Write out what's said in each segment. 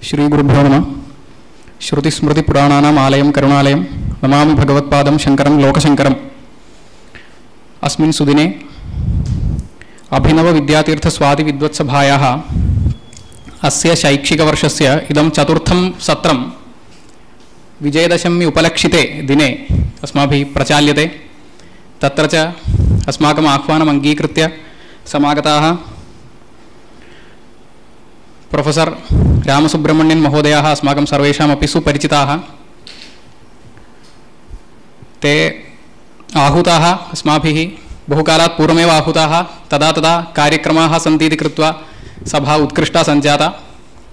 श्रीगुरुभ्यो नमः। श्रुतिस्मृतिपुराणानाम् आलयं करुणालयं नमामि भगवत्पादं शङ्करं लोकशङ्करम्। अस्मिन् सुदिने अभिनवविद्यातीर्थस्वादिविद्वत्सभायाः अस्य शैक्षिकवर्षस्य इदं चतुर्थं सत्रं विजयदशमी उपलक्षिते दिने अस्माभिः प्रचाल्यते। तत्र च अस्माकम् आह्वानम् अङ्गीकृत्य समागताः प्रोफेसर् रामसुब्रह्मण्यन् महोदयाः अस्माकं सर्वेषामपि सुपरिचिताः। ते आहूताः अस्माभिः बहुकालात् पूर्वमेव आहूताः। तदा तदा कार्यक्रमाः सन्ति इति कृत्वा सभा उत्कृष्टा सञ्जाता।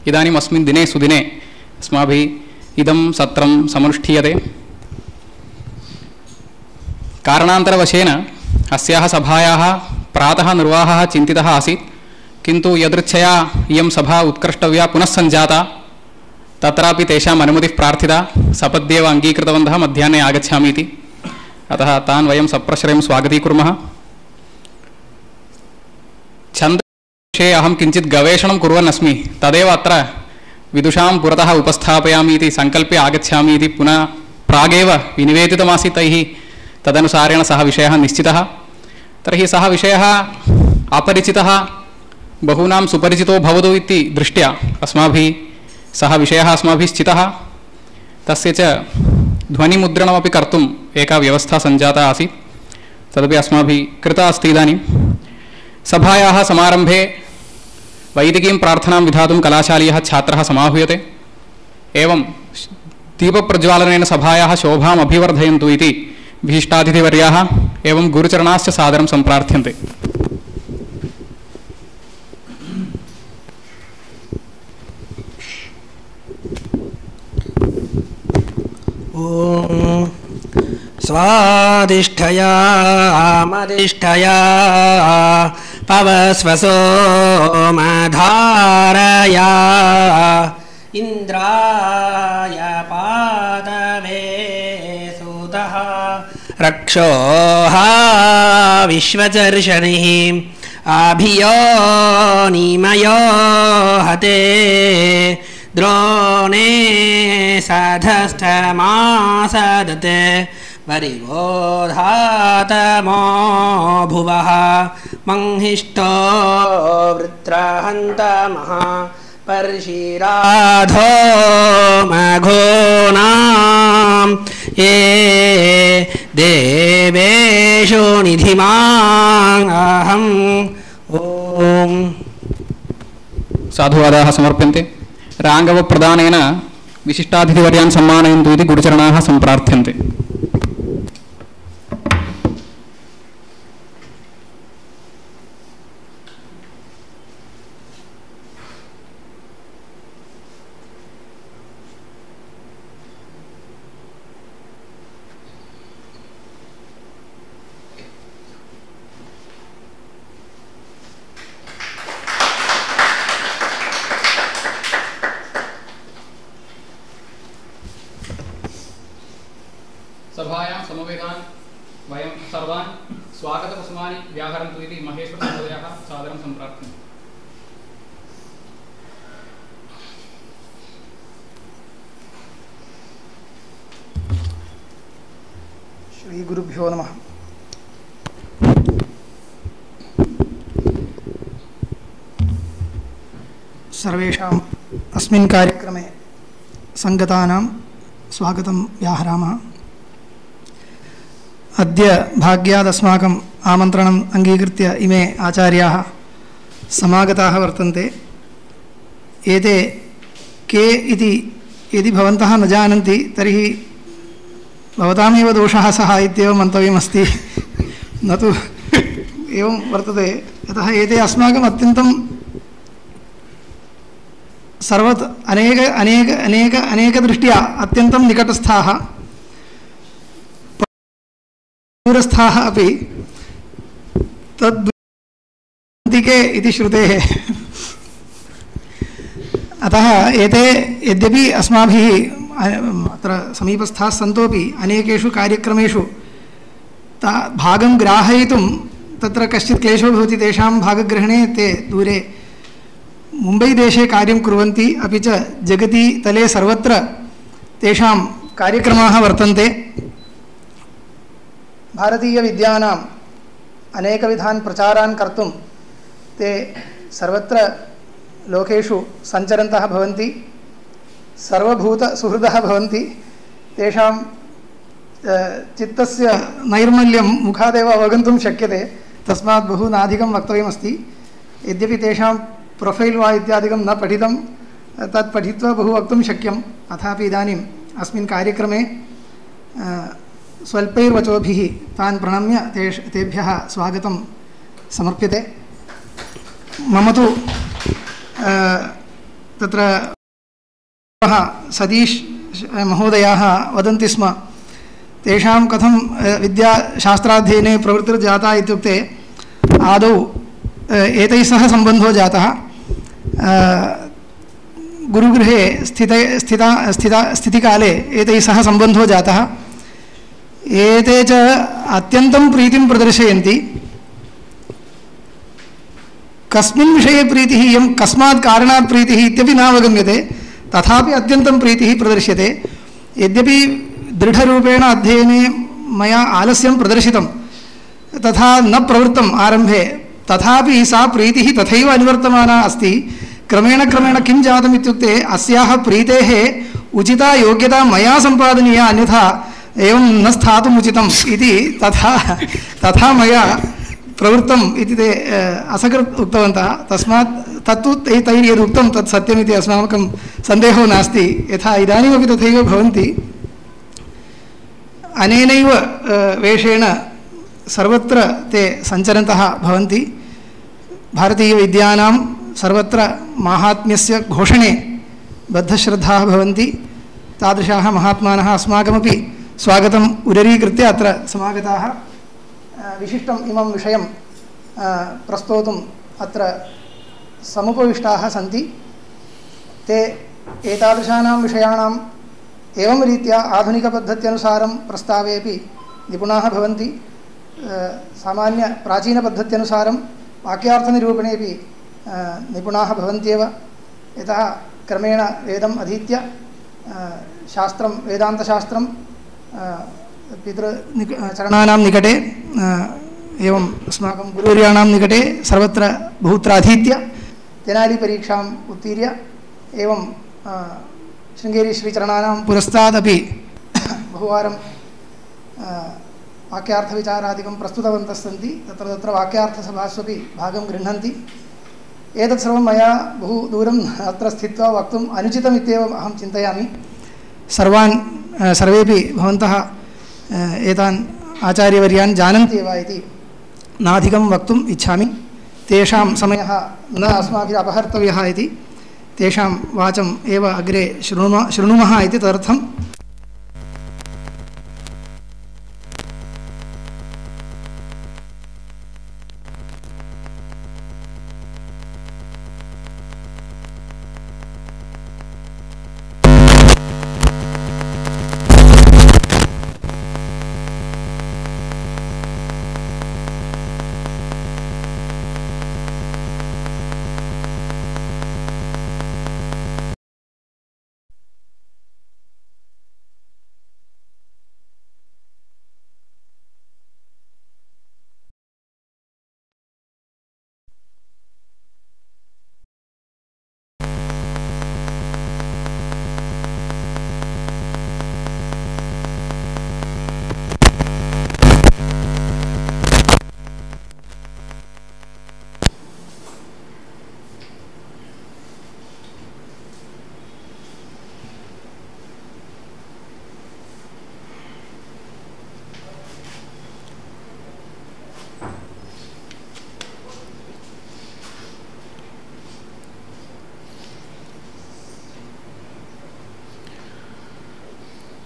इदानीम् अस्मिन् दिने सुदिने अस्माभिः इदं सत्रं समनुष्ठीयते। कारणान्तरवशेन अस्याः सभायाः प्रातः निर्वाहः चिन्तितः आसीत्, किन्तु यदृच्छया इयं सभा उत्कृष्टव्या पुनः सञ्जाता। तत्रापि तेषाम् अनुमतिः प्रार्थिता। सपद्येव अङ्गीकृतवन्तः मध्याह्ने आगच्छामि इति। अतः तान् वयं सप्रश्रयं स्वागतीकुर्मः। छन्दविषये अहं किञ्चित् गवेषणं कुर्वन् अस्मि, तदेव अत्र विदुषां पुरतः उपस्थापयामि इति सङ्कल्प्य आगच्छामि इति पुनः प्रागेव विनिवेदितमासीत् तैः। तदनुसारेण सः विषयः निश्चितः। तर्हि सः विषयः अपरिचितः बहूनां सुपरिचितो भवतु इति दृष्ट्या अस्माभिः सः विषयः अस्माभिः चितः। तस्य च ध्वनिमुद्रणमपि कर्तुम् एका व्यवस्था सञ्जाता आसीत्, तदपि अस्माभिः कृता अस्ति। इदानीं सभायाः समारम्भे वैदिकीं प्रार्थनां विधातुं कलाशालीयः छात्रः समाहूयते। एवं दीपप्रज्वालनेन सभायाः शोभाम् अभिवर्धयन्तु इति विशिष्टातिथिवर्याः एवं गुरुचरणाश्च सादरं सम्प्रार्थ्यन्ते। ॐ स्वादिष्ठया मदिष्ठया पवस्वसो मधारया इन्द्राय पादवे सुतः रक्षोः विश्वचर्षणिः अभियो निमयो हते द्रोणे सधष्टमासदते वरिवोधातमो भुवः मंहिष्ठो वृत्रहन्तमः पर्षिराधो मघोनां ये देवेषु निधिमाहम्। ॐ साधुवादाः समर्प्यन्ते। राङ्गवप्रदानेन विशिष्टातिथिवर्यान् सम्मानयन्तु इति गुरुचरणाः सम्प्रार्थ्यन्ते। सभायां समवेतान् वयं सर्वान् स्वागतकुसुमानि व्याहरन्तु इति महेश्वरमहोदयाः सादरं सम्प्रार्थ्यन्ते। श्रीगुरुभ्यो नमः। सर्वेषाम् अस्मिन् कार्यक्रमे सङ्गतानां स्वागतं व्याहरामः। अद्य भाग्यादस्माकम् आमन्त्रणम् अङ्गीकृत्य इमे आचार्याः समागताः वर्तन्ते। एते के इति यदि भवन्तः न जानन्ति तर्हि भवतामेव दोषः सः इत्येव मन्तव्यमस्ति, न तु एवं वर्तते। यतः एते अस्माकम् अत्यन्तं अनेकदृष्ट्या अत्यन्तं निकटस्थाः, दूरस्थाः अपि तद्दिके इति श्रुतेः। अतः एते यद्यपि अस्माभिः अत्र समीपस्थाः सन्तोपि अनेकेषु कार्यक्रमेषु भागं ग्राहयितुं तत्र कश्चित् क्लेशो भवति। तेषां भागग्रहणे ते दूरे मुम्बैदेशे कार्यं कुर्वन्ति, अपि च जगति तले सर्वत्र तेषां कार्यक्रमाः वर्तन्ते। भारतीयविद्यानाम् अनेकविधान् प्रचारान् कर्तुं ते सर्वत्र लोकेषु सञ्चरन्तः भवन्ति, सर्वभूतसुहृदः भवन्ति। तेषां चित्तस्य नैर्मल्यं मुखादेव अवगन्तुं शक्यते, तस्मात् बहु नाधिकं वक्तव्यमस्ति। यद्यपि तेषां प्रोफैल् वा इत्यादिकं न पठितं, तत् पठित्वा बहु वक्तुं शक्यं। अथापि इदानीम् अस्मिन् कार्यक्रमे स्वल्पैर्वचोभिः तान् प्रणम्य तेभ्यः स्वागतं समर्प्यते। मम तु तत्र सतीश महोदयाः वदन्ति स्म, तेषां कथं विद्याशास्त्राध्ययने प्रवृत्तिर्जाता इत्युक्ते आदौ एतैः सह सम्बन्धो जातः। गुरुगृहे स्थितिकाले एतैः सह सम्बन्धो जातः। एते च अत्यन्तं प्रीतिं प्रदर्शयन्ति। कस्मिन् विषये प्रीतिः, इयं कस्मात् कारणात् प्रीतिः इत्यपि नावगम्यते, तथापि अत्यन्तं प्रीतिः प्रदर्श्यते। यद्यपि दृढरूपेण अध्ययने मया आलस्यं प्रदर्शितं, तथा न प्रवृत्तम् आरम्भे, तथापि सा प्रीतिः तथैव अनुवर्तमाना अस्ति। क्रमेण क्रमेण किं जातम् इत्युक्ते अस्याः प्रीतेः उचिता योग्यता मया सम्पादनीया, अन्यथा एवं न स्थातुम् उचितम् इति तथा मया प्रवृत्तम् इति ते असकृत् उक्तवन्तः। तस्मात् तत्तु तैः यदुक्तं तत् सत्यमिति अस्माकं सन्देहो नास्ति। यथा इदानीमपि तथैव भवन्ति। अनेनैव वेषेण सर्वत्र ते सञ्चरन्तः भवन्ति। भारतीयविद्यानां सर्वत्र माहात्म्यस्य घोषणे बद्धश्रद्धाः भवन्ति। तादृशाः महात्मानः अस्माकमपि स्वागतम् उदरीकृत्य अत्र समागताः। विशिष्टम् इमं विषयं प्रस्तोतुम् अत्र समुपविष्टाः सन्ति। ते एतादृशानां विषयाणाम् एवं रीत्या आधुनिकपद्धत्यनुसारं प्रस्तावेपि निपुणाः भवन्ति। सामान्यप्राचीनपद्धत्यनुसारं वाक्यार्थनिरूपणेपि निपुणाः भवन्त्येव। यतः क्रमेण वेदम् अधीत्य शास्त्रं, वेदान्तशास्त्रं पितृचरणानां निकटे एवं अस्माकं गुरुवर्याणां निकटे सर्वत्र बहुत्र अधीत्य तेनालीपरीक्षाम् उत्तीर्य एवं शृङ्गेरीश्रीचरणानां पुरस्तादपि बहुवारं वाक्यार्थविचारादिकं प्रस्तुतवन्तः सन्ति। तत्र तत्र वाक्यार्थसभास्वपि भागं गृह्णन्ति। एतत् सर्वं मया बहु दूरम् अत्र स्थित्वा वक्तुम् अनुचितमित्येव अहं चिन्तयामि। सर्वेपि भवन्तः एतान् आचार्यवर्यान् जानन्ति एव इति नाधिकं वक्तुम् इच्छामि। तेषां समयः न अस्माभिः अपहर्तव्यः इति तेषां वाचम् एव अग्रे शृणुमः इति तदर्थं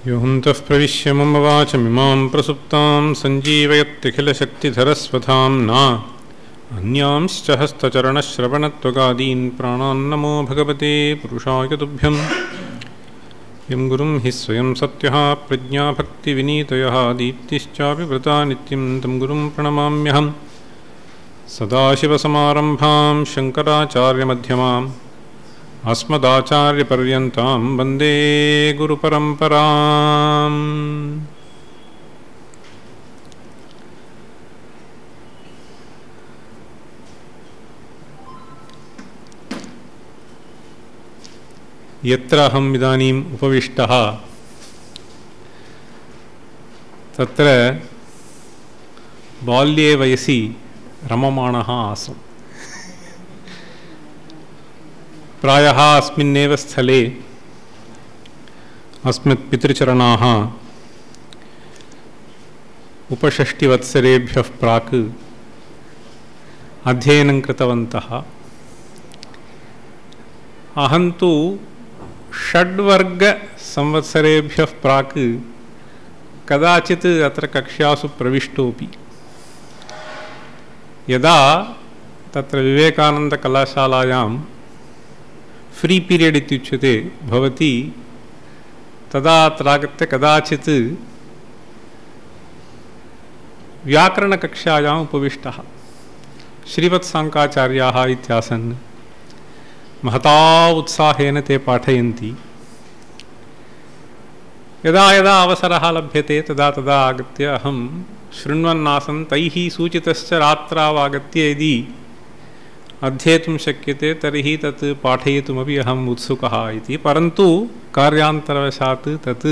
योऽन्तः प्रविश्य मम वाचमिमां प्रसुप्तां सञ्जीवयत्यखिलशक्तिधरस्वधाम्ना अन्यांश्च हस्तचरणश्रवणत्वगादीन् प्राणान्नमो भगवते पुरुषाय तुभ्यं। यं गुरुं हि स्वयं सत्यः प्रज्ञाभक्तिविनीतयः दीप्तिश्चापि व्रता नित्यं तं गुरुं प्रणमाम्यहम्। सदाशिवसमारम्भां शङ्कराचार्यमध्यमाम् अस्मदाचार्यपर्यन्तां वन्दे गुरुपरम्पराम्। यत्र अहम् इदानीम् उपविष्टः तत्र बाल्ये वयसि रममाणः आसम्। प्रायः अस्मिन्नेव स्थले अस्मत् पितृचरणाः उपषष्टिवत्सरेभ्यः प्राक् अध्ययनं कृतवन्तः। अहं तु षड्वर्गसंवत्सरेभ्यः प्राक् कदाचित् अत्र कक्षासु प्रविष्टोऽपि। यदा तत्र विवेकानन्दकलाशालायां फ्री पीरियड् इत्युच्यते भवति, तदा अत्र आगत्य कदाचित् व्याकरणकक्षायाम् उपविष्टः। श्रीवत्साङ्काचार्याः इत्यासन्। महता उत्साहेन ते पाठयन्ति। यदा यदा अवसरः लभ्यते तदा तदा आगत्य अहं शृण्वन्नासं। तैः सूचितश्च रात्रावागत्य यदि अध्येतुं शक्यते तर्हि तत् पाठयितुमपि अहम् उत्सुकः इति। परन्तु कार्यान्तरवशात् तत्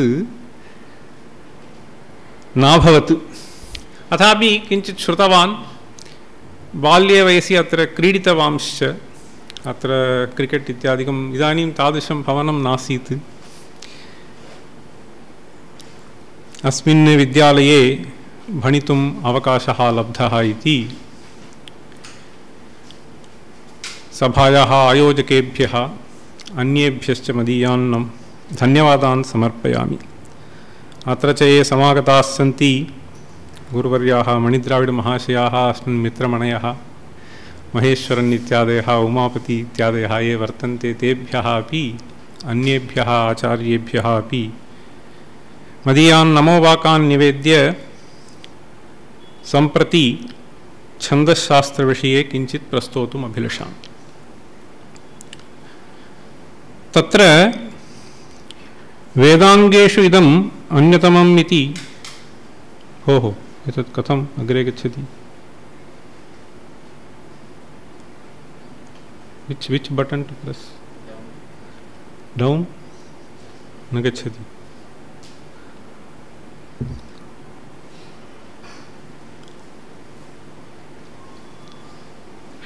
नाभवत्। अथापि किञ्चित् श्रुतवान्। बाल्ये वयसि अत्र क्रीडितवांश्च। अत्र क्रिकेट् इत्यादिकम् इदानीं तादृशं भवनं नासीत्। अस्मिन् विद्यालये भणितुम् अवकाशः लब्धः इति सभायाः आयोजकेभ्यः अन्येभ्यश्च मदीयान् धन्यवादान् समर्पयामि। अत्र च ये समागताः सन्ति गुरुवर्याः मणिद्राविडमहाशयाः, अस्मिन् मित्रमणयः, महेश्वरन् इत्यादयः, उमापति इत्यादयः ये वर्तन्ते तेभ्यः अपि अन्येभ्यः आचार्येभ्यः अपि मदीयान् नमोवाकान् निवेद्य सम्प्रति छन्दश्शास्त्रविषये किञ्चित् प्रस्तोतुम् अभिलषामि। तत्र वेदाङ्गेषु इदम् अन्यतमम् इति। भोः, एतत् कथम् अग्रे गच्छति? Which button to press? Down? न गच्छति।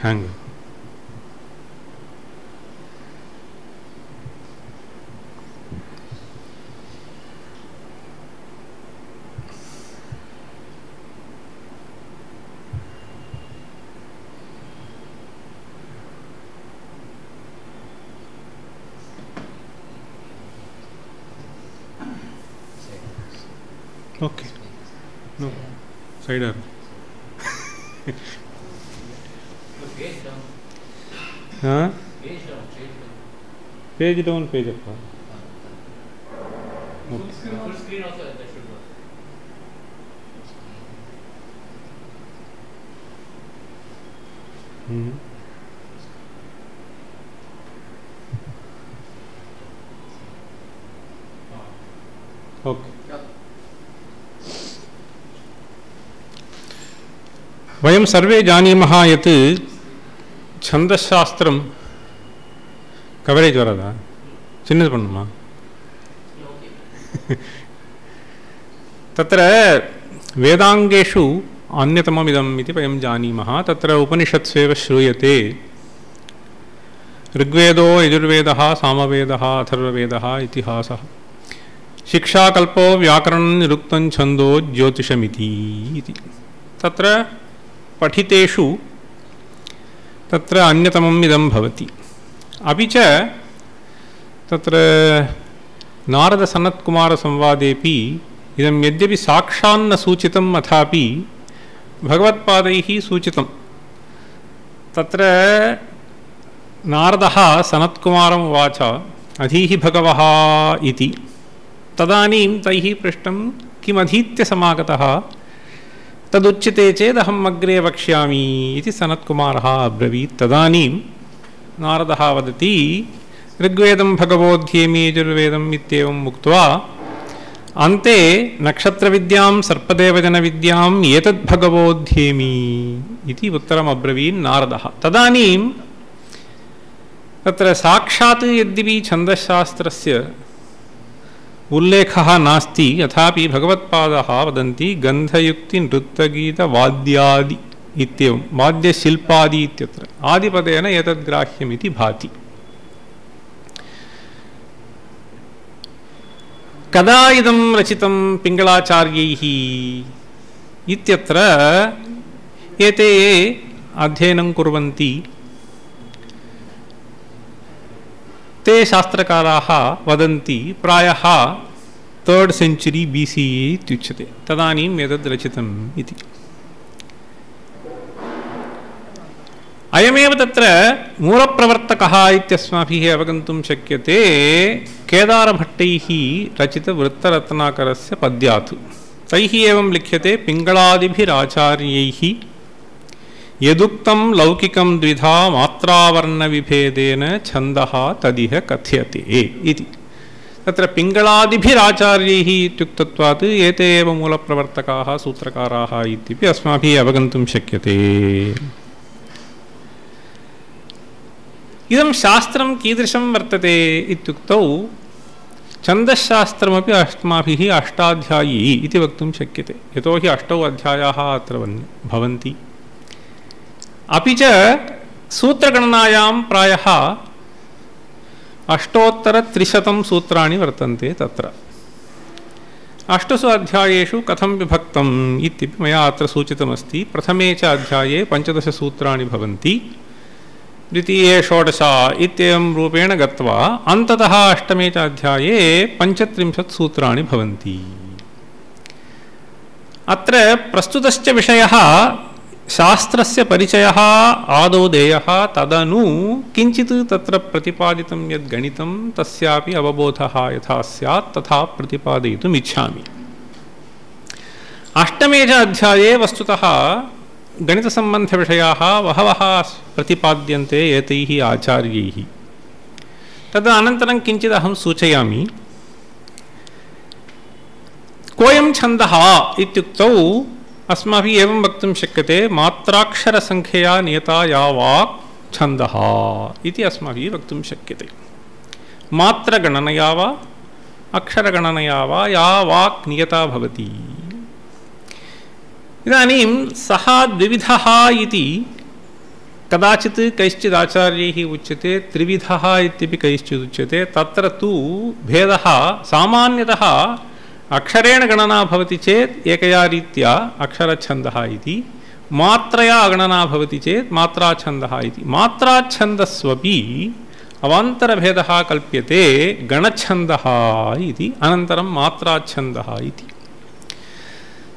Hang. Okay. No. Side arrow. Huh? Page down, page up. Okay. Full screen also that should work. Okay. वयं सर्वे जानीमः यत् छन्दशास्त्रं कवरेज वरदा चिन्नद पण्णुमा तत्र वेदाङ्गेषु अन्यतममिदम् इति वयं जानीमः। तत्र उपनिषत्स्वेव श्रूयते ऋग्वेदो यजुर्वेदः सामवेदः अथर्ववेदः इतिहासः शिक्षाकल्पो व्याकरणं निरुक्तं छन्दो ज्योतिषमिति इति। तत्र पठितेषु तत्र अन्यतमम् इदं भवति। अपि च तत्र नारदसनत्कुमारसंवादेपि इदं यद्यपि साक्षान्न सूचितम् अथापि भगवत्पादैः सूचितं। तत्र नारदः सनत्कुमारम् उवाच अधीहि भगवः इति। तदानीं तैः पृष्टं किमधीत्य समागतः तदुच्यते चेदहम् अग्रे वक्ष्यामि इति सनत्कुमारः अब्रवीत्। तदानीं नारदः वदति ऋग्वेदं भगवोऽध्येमि यजुर्वेदम् इत्येवम् उक्त्वा अन्ते नक्षत्रविद्यां सर्पदेवजनविद्याम् एतद्भगवोऽध्येमि इति उत्तरम् अब्रवीन् नारदः। तदानीं तत्र साक्षात् यद्यपि छन्दशास्त्रस्य उल्लेखः नास्ति तथापि भगवत्पादः वदन्ति गन्धयुक्तिनृत्तगीतवाद्यादि इत्येवं वाद्यशिल्पादि इत्यत्र आदिपदेन एतद्ग्राह्यमिति भाति। कदा इदं रचितं पिङ्गलाचार्यैः इत्यत्र एते अध्ययनं कुर्वन्ति ते शास्त्रकाराः वदन्ति प्रायः 3rd century BCE इत्युच्यते तदानीम् एतद् रचितम् इति। अयमेव तत्र मूलप्रवर्तकः इत्यस्माभिः अवगन्तुं शक्यते केदारभट्टैः रचितवृत्तरत्नाकरस्य पद्यात्। तैः एवं लिख्यते पिङ्गलादिभिराचार्यैः यदुक्तं लौकिकं द्विधा मात्रावर्णविभेदेन छन्दः तदिह कथ्यते इति। तत्र पिङ्गलादिभिराचार्यैः इत्युक्तत्वात् एते एव मूलप्रवर्तकाः सूत्रकाराः इत्यपि अस्माभिः अवगन्तुं शक्यते। इदं शास्त्रं कीदृशं वर्तते इत्युक्तौ छन्दश्शास्त्रमपि अस्माभिः अष्टाध्यायी इति वक्तुं शक्यते। यतोहि 8 अध्यायाः अत्र भवन्ति। अपि च सूत्रगणनायां प्रायः 8,300 सूत्राणि वर्तन्ते। तत्र 8 अध्यायेषु कथं विभक्तम् इत्यपि मया अत्र सूचितमस्ति। प्रथमे च अध्याये 15 सूत्राणि भवन्ति, द्वितीये 16 इत्येवं रूपेण गत्वा अन्ततः 8मे च अध्याये 35 सूत्राणि भवन्ति। अत्र प्रस्तुतश्च विषयः शास्त्रस्य परिचयः आदौ देयः, तदनु किञ्चित् तत्र प्रतिपादितं यद् गणितं तस्यापि अवबोधः यथा स्यात् तथा प्रतिपादयितुम् इच्छामि। 8मे च अध्याये वस्तुतः गणितसम्बन्धविषयाः बहवः प्रतिपाद्यन्ते एतैः आचार्यैः। तदनन्तरं किञ्चित् अहं सूचयामि। कोऽयं छन्दः इत्युक्तौ अस्माभिः एवं वक्तुं शक्यते मात्राक्षरसङ्ख्यया नियता या वाक् छन्दः इति अस्माभिः वक्तुं शक्यते। मात्रगणनया वा अक्षरगणनया वा या वाक् नियता भवति। इदानीं सः द्विविधः इति कदाचित् कैश्चित् आचार्यैः उच्यते, त्रिविधः इत्यपि कैश्चित् उच्यते। तत्र तु भेदः सामान्यतः अक्षरेण गणना भवति चेत् एकया रीत्या अक्षरछन्दः इति, मात्रया गणना भवति चेत् मात्राछन्दः इति। मात्राछन्दस्वपि अवान्तरभेदः कल्प्यते, गणछन्दः इति, अनन्तरं मात्राछन्दः इति।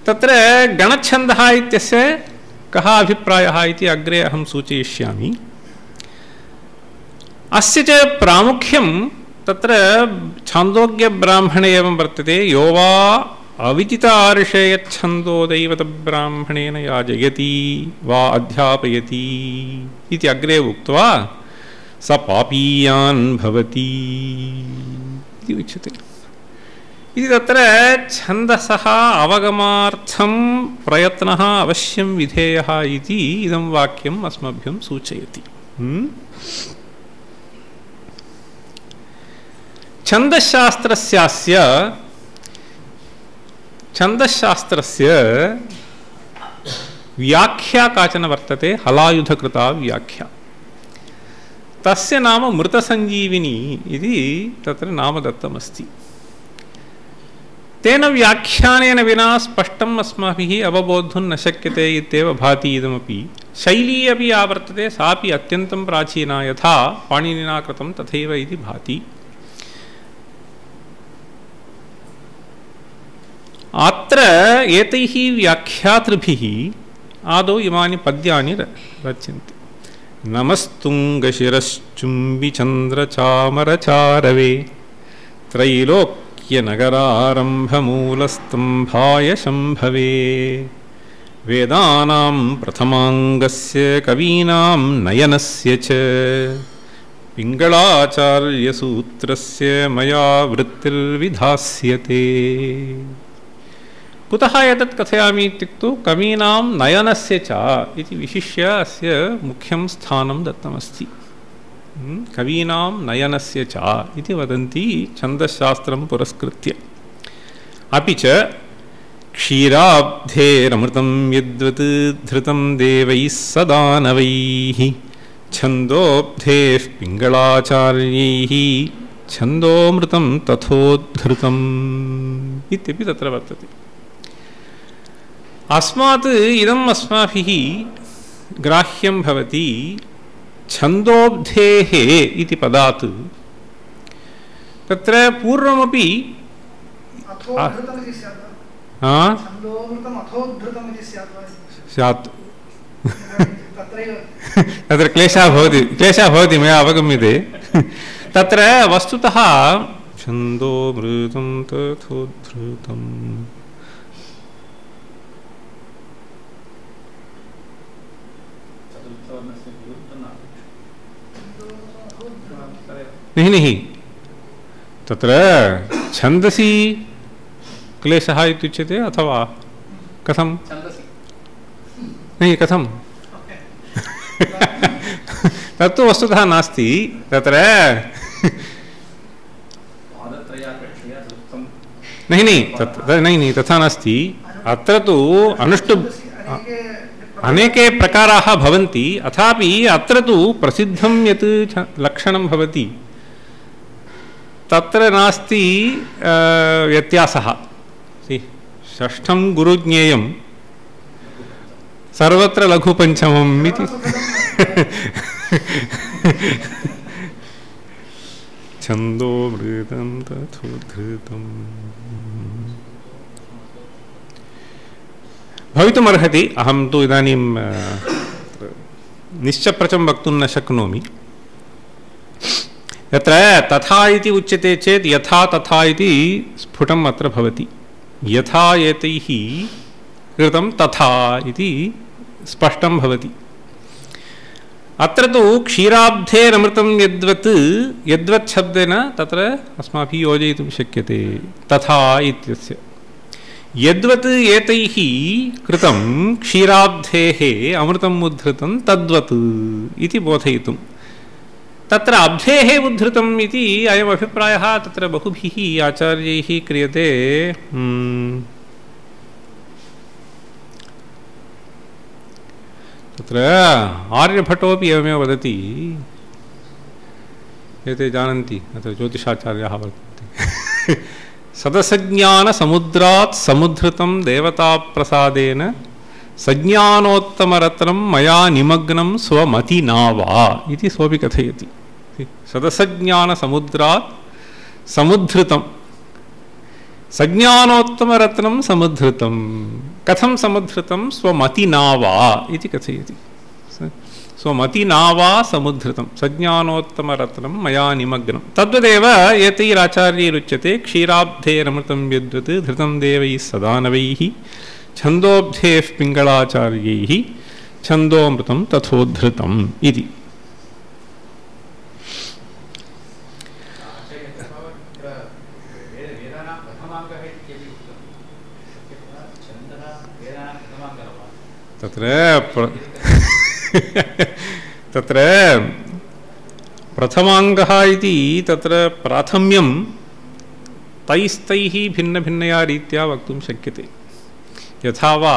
तत्र गणछन्दः इत्यस्य कः अभिप्रायः इति अग्रे अहं सूचयिष्यामि। अस्य च प्रामुख्यं तत्र छान्दोग्यब्राह्मणे एवं वर्तते। यो वा अविदितार्षे यच्छन्दो दैवतब्राह्मणेन याजयति वा अध्यापयति इति अग्रे उक्त्वा स पापीयान् भवति इति उच्यते। इति तत्र छन्दसः अवगमार्थं प्रयत्नः अवश्यं विधेयः इति इदं वाक्यम् अस्मभ्यं सूचयति। छन्दशास्त्रस्य व्याख्या काचन वर्तते, हलायुधकृता व्याख्या। तस्य नाम मृतसञ्जीविनी इति तत्र नाम दत्तमस्ति। तेन व्याख्यानेन विना स्पष्टम् अस्माभिः अवबोद्धुं न शक्यते इत्येव भाति। इदमपि शैली अपि या वर्तते सापि अत्यन्तं प्राचीना, यथा पाणिनिना कृतं तथैव इति भाति। अत्र एतैः व्याख्यातृभिः आदौ इमानि पद्यानि रच्यन्ते। नमस्तुङ्गशिरश्चुम्बिचन्द्रचामरचारवे त्रैलोक्यनगरारम्भमूलस्तम्भाय शम्भवे वेदानां प्रथमाङ्गस्य कवीनां नयनस्य च पिङ्गलाचार्यसूत्रस्य मया वृत्तिर्विधास्यते। कुतः एतत् कथयामि इत्युक्तौ कवीनां नयनस्य च इति विशिष्य अस्य मुख्यं स्थानं दत्तमस्ति। कवीनां नयनस्य च इति वदन्ति छन्दशास्त्रं पुरस्कृत्य। अपि च क्षीराब्धेरमृतं यद्वत् धृतं देवैः सदानवैः छन्दोब्धेः पिङ्गलाचार्यैः छन्दोमृतं तथोद्धृतम् इत्यपि तत्र वर्तते। अस्मात् इदम् अस्माभिः ग्राह्यं भवति छन्दोब्धेः इति पदात् तत्र पूर्वमपि स्यात् तत्र क्लेशः भवति मया अवगम्यते। तत्र वस्तुतः छन्दोमृतं तथोद्धृतम् नहीं तत्र छन्दसि क्लेशः इत्युच्यते अथवा कथं नहीं कथं तत्तु वस्तुतः नास्ति। तत्र नहीं तथा नास्ति। अत्र तु अनेके प्रकाराः भवन्ति। अथापि अत्र तु प्रसिद्धं यत् लक्षणं भवति तत्र नास्ति व्यत्यासः। षष्ठं गुरुज्ञेयं सर्वत्र लघुपञ्चमम् इति छन्दोमृतं तथोद्धृतम् भवितुमर्हति। अहं तु इदानीं निश्चप्रचं वक्तुं न शक्नोमि। यत्र तथा इति उच्यते चेत् यथा तथा इति स्फुटम् अत्र भवति। यथा एतैः कृतं तथा इति स्पष्टं भवति। अत्र तु क्षीराब्धेरमृतं यद्वत् शब्देन तत्र अस्माभिः योजयितुं शक्यते तथा इत्यस्य। यद्वत् एतैः कृतं क्षीराब्धेः अमृतम् उद्धृतं तद्वत् इति बोधयितुं। तत्र अब्धेः उद्धृतम् इति अयम् अभिप्रायः तत्र बहुभिः आचार्यैः क्रियते। तत्र आर्यभट्टोपि एवमेव वदति। एते जानन्ति अत्र ज्योतिषाचार्याः वर्तन्ते। सदसज्ञानसमुद्रात् समुद्धृतं देवताप्रसादेन सज्ञानोत्तमरत्नं मया निमग्नं स्वमतिना वा इति सोऽपि कथयति। सदसज्ञानसमुद्रात् समुद्धृतं सज्ञानोत्तमरत्नं समुद्धृतं कथं समुद्धृतं स्वमतिना वा इति कथयति। स्वमतिना वा समुद्धृतं सज्ञानोत्तमरत्नं मया निमग्नं। तद्वदेव एतैराचार्यैरुच्यते क्षीराब्धेरमृतं यद्वत् धृतं देवैः सदानवैः छन्दोब्धेः पिङ्गलाचार्यैः छन्दोमृतं तथोद्धृतम् इति। तत्र प्रथमाङ्गः इति तत्र प्राथम्यं तैस्तैः भिन्नभिन्नया रीत्या वक्तुं शक्यते। यथा वा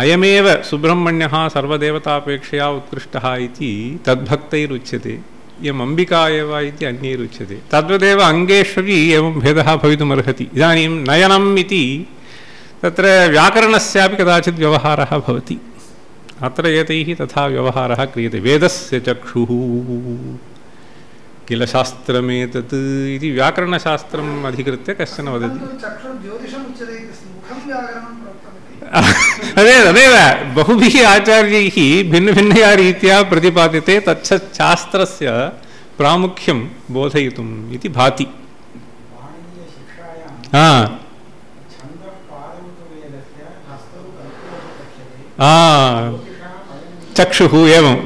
अयमेव सुब्रह्मण्यः सर्वदेवतापेक्षया उत्कृष्टः इति तद्भक्तैरुच्यते। इयम् अम्बिका एव इति अन्यैरुच्यते। तद्वदेव अङ्गेष्वपि एवं भेदः भवितुमर्हति। इदानीं नयनम् इति तत्र व्याकरणस्यापि कदाचित् व्यवहारः भवति। अत्र एतैः तथा व्यवहारः क्रियते। वेदस्य चक्षुः किल शास्त्रमेतत् इति व्याकरणशास्त्रम् अधिकृत्य कश्चन वदति। तदेव बहुभिः आचार्यैः भिन्नभिन्नया रीत्या प्रतिपाद्यते। तच्छास्त्रस्य प्रामुख्यं बोधयितुम् इति भाति। चक्षुः एवं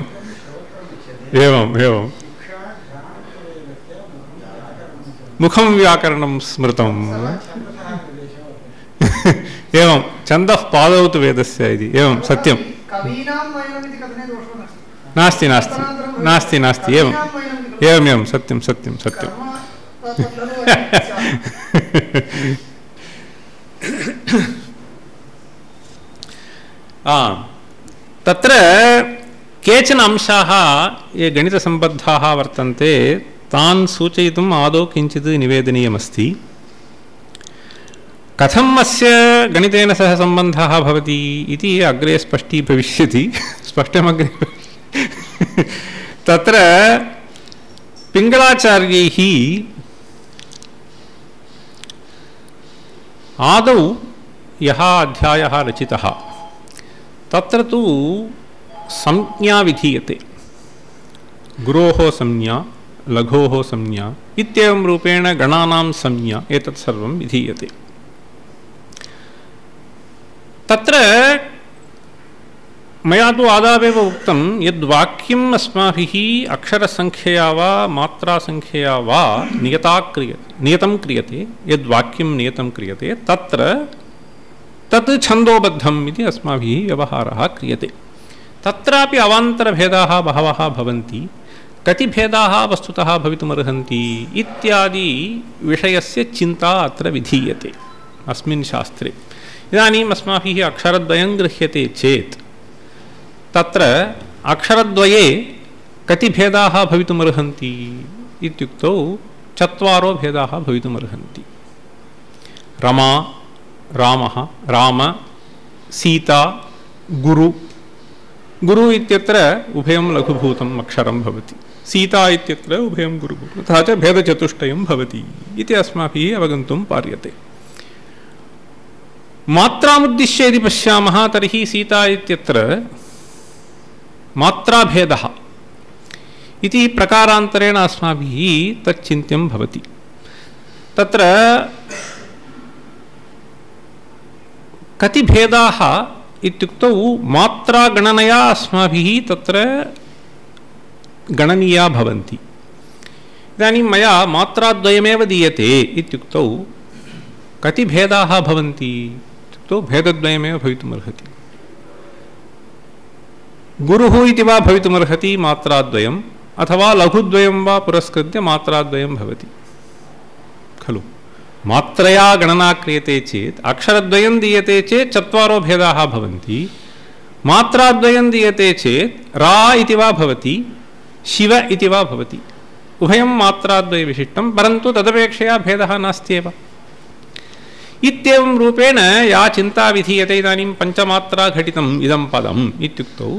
एवम् एवं मुखं व्याकरणं स्मृतम् एवं छन्दः पादौ तु वेदस्य इति एवं सत्यं नास्ति नास्ति नास्ति नास्ति एवम् एवम् एवं सत्यं सत्यं सत्यं तत्र केचन अंशाः ये गणितसम्बद्धाः वर्तन्ते तान् सूचयितुम् आदौ किञ्चित् निवेदनीयमस्ति कथम् अस्य गणितेन सह सम्बन्धः भवति इति अग्रे स्पष्टीभविष्यति स्पष्टमग्रे तत्र पिङ्गळाचार्यैः आदौ यः अध्यायः रचितः तत्र तु संज्ञा विधीयते गुरोः संज्ञा लघोः संज्ञा इत्येवं रूपेण गणानां संज्ञा एतत् सर्वं विधीयते तत्र मया तु आदावेव उक्तं यद्वाक्यम् अस्माभिः अक्षरसङ्ख्यया वा मात्रासङ्ख्यया वा नियतं क्रियते यद्वाक्यं नियतं क्रियते तत्र तत् छन्दोबद्धम् इति अस्माभिः व्यवहारः क्रियते तत्रापि अवान्तरभेदाः बहवः भवन्ति कति भेदाः वस्तुतः भवितुमर्हन्ति इत्यादि विषयस्य चिन्ता अत्र विधीयते अस्मिन् शास्त्रे इदानीम् अस्माभिः अक्षरद्वयं गृह्यते चेत् तत्र अक्षरद्वये कति भेदाः भवितुमर्हन्ति इत्युक्तौ 4 भेदाः भवितुमर्हन्ति रमा रामः राम सीता गुरु गुरु इत्यत्र उभयं लघुभूतम् अक्षरं भवति सीता इत्यत्र उभयं गुरुभूतं तथा च भेदचतुष्टयं भवति इति अस्माभिः अवगन्तुं पार्यते मात्रामुद्दिश्य यदि पश्यामः तर्हि सीता इत्यत्र मात्राभेदः इति प्रकारान्तरेण अस्माभिः तच्चिन्त्यं भवति तत्र कति भेदाः इत्युक्तौ मात्रागणनया अस्माभिः तत्र गणनीया भवन्ति इदानीं मया मात्राद्वयमेव दीयते इत्युक्तौ कति भेदाः भवन्ति इत्युक्तौ भेदद्वयमेव भवितुमर्हति गुरुः इति वा भवितुमर्हति मात्राद्वयम् अथवा लघुद्वयं वा पुरस्कृत्य मात्राद्वयं भवति खलु मात्रया गणना क्रियते चेत् अक्षरद्वयं दीयते चेत् 4 भेदाः भवन्ति मात्राद्वयं दीयते चेत् रा इति वा भवति शिव इति वा भवति उभयं मात्राद्वयविशिष्टं परन्तु तदपेक्षया भेदः नास्त्येव इत्येवं रूपेण या चिन्ता विधीयते इदानीं पञ्चमात्राघटितम् इदं पदम् इत्युक्तौ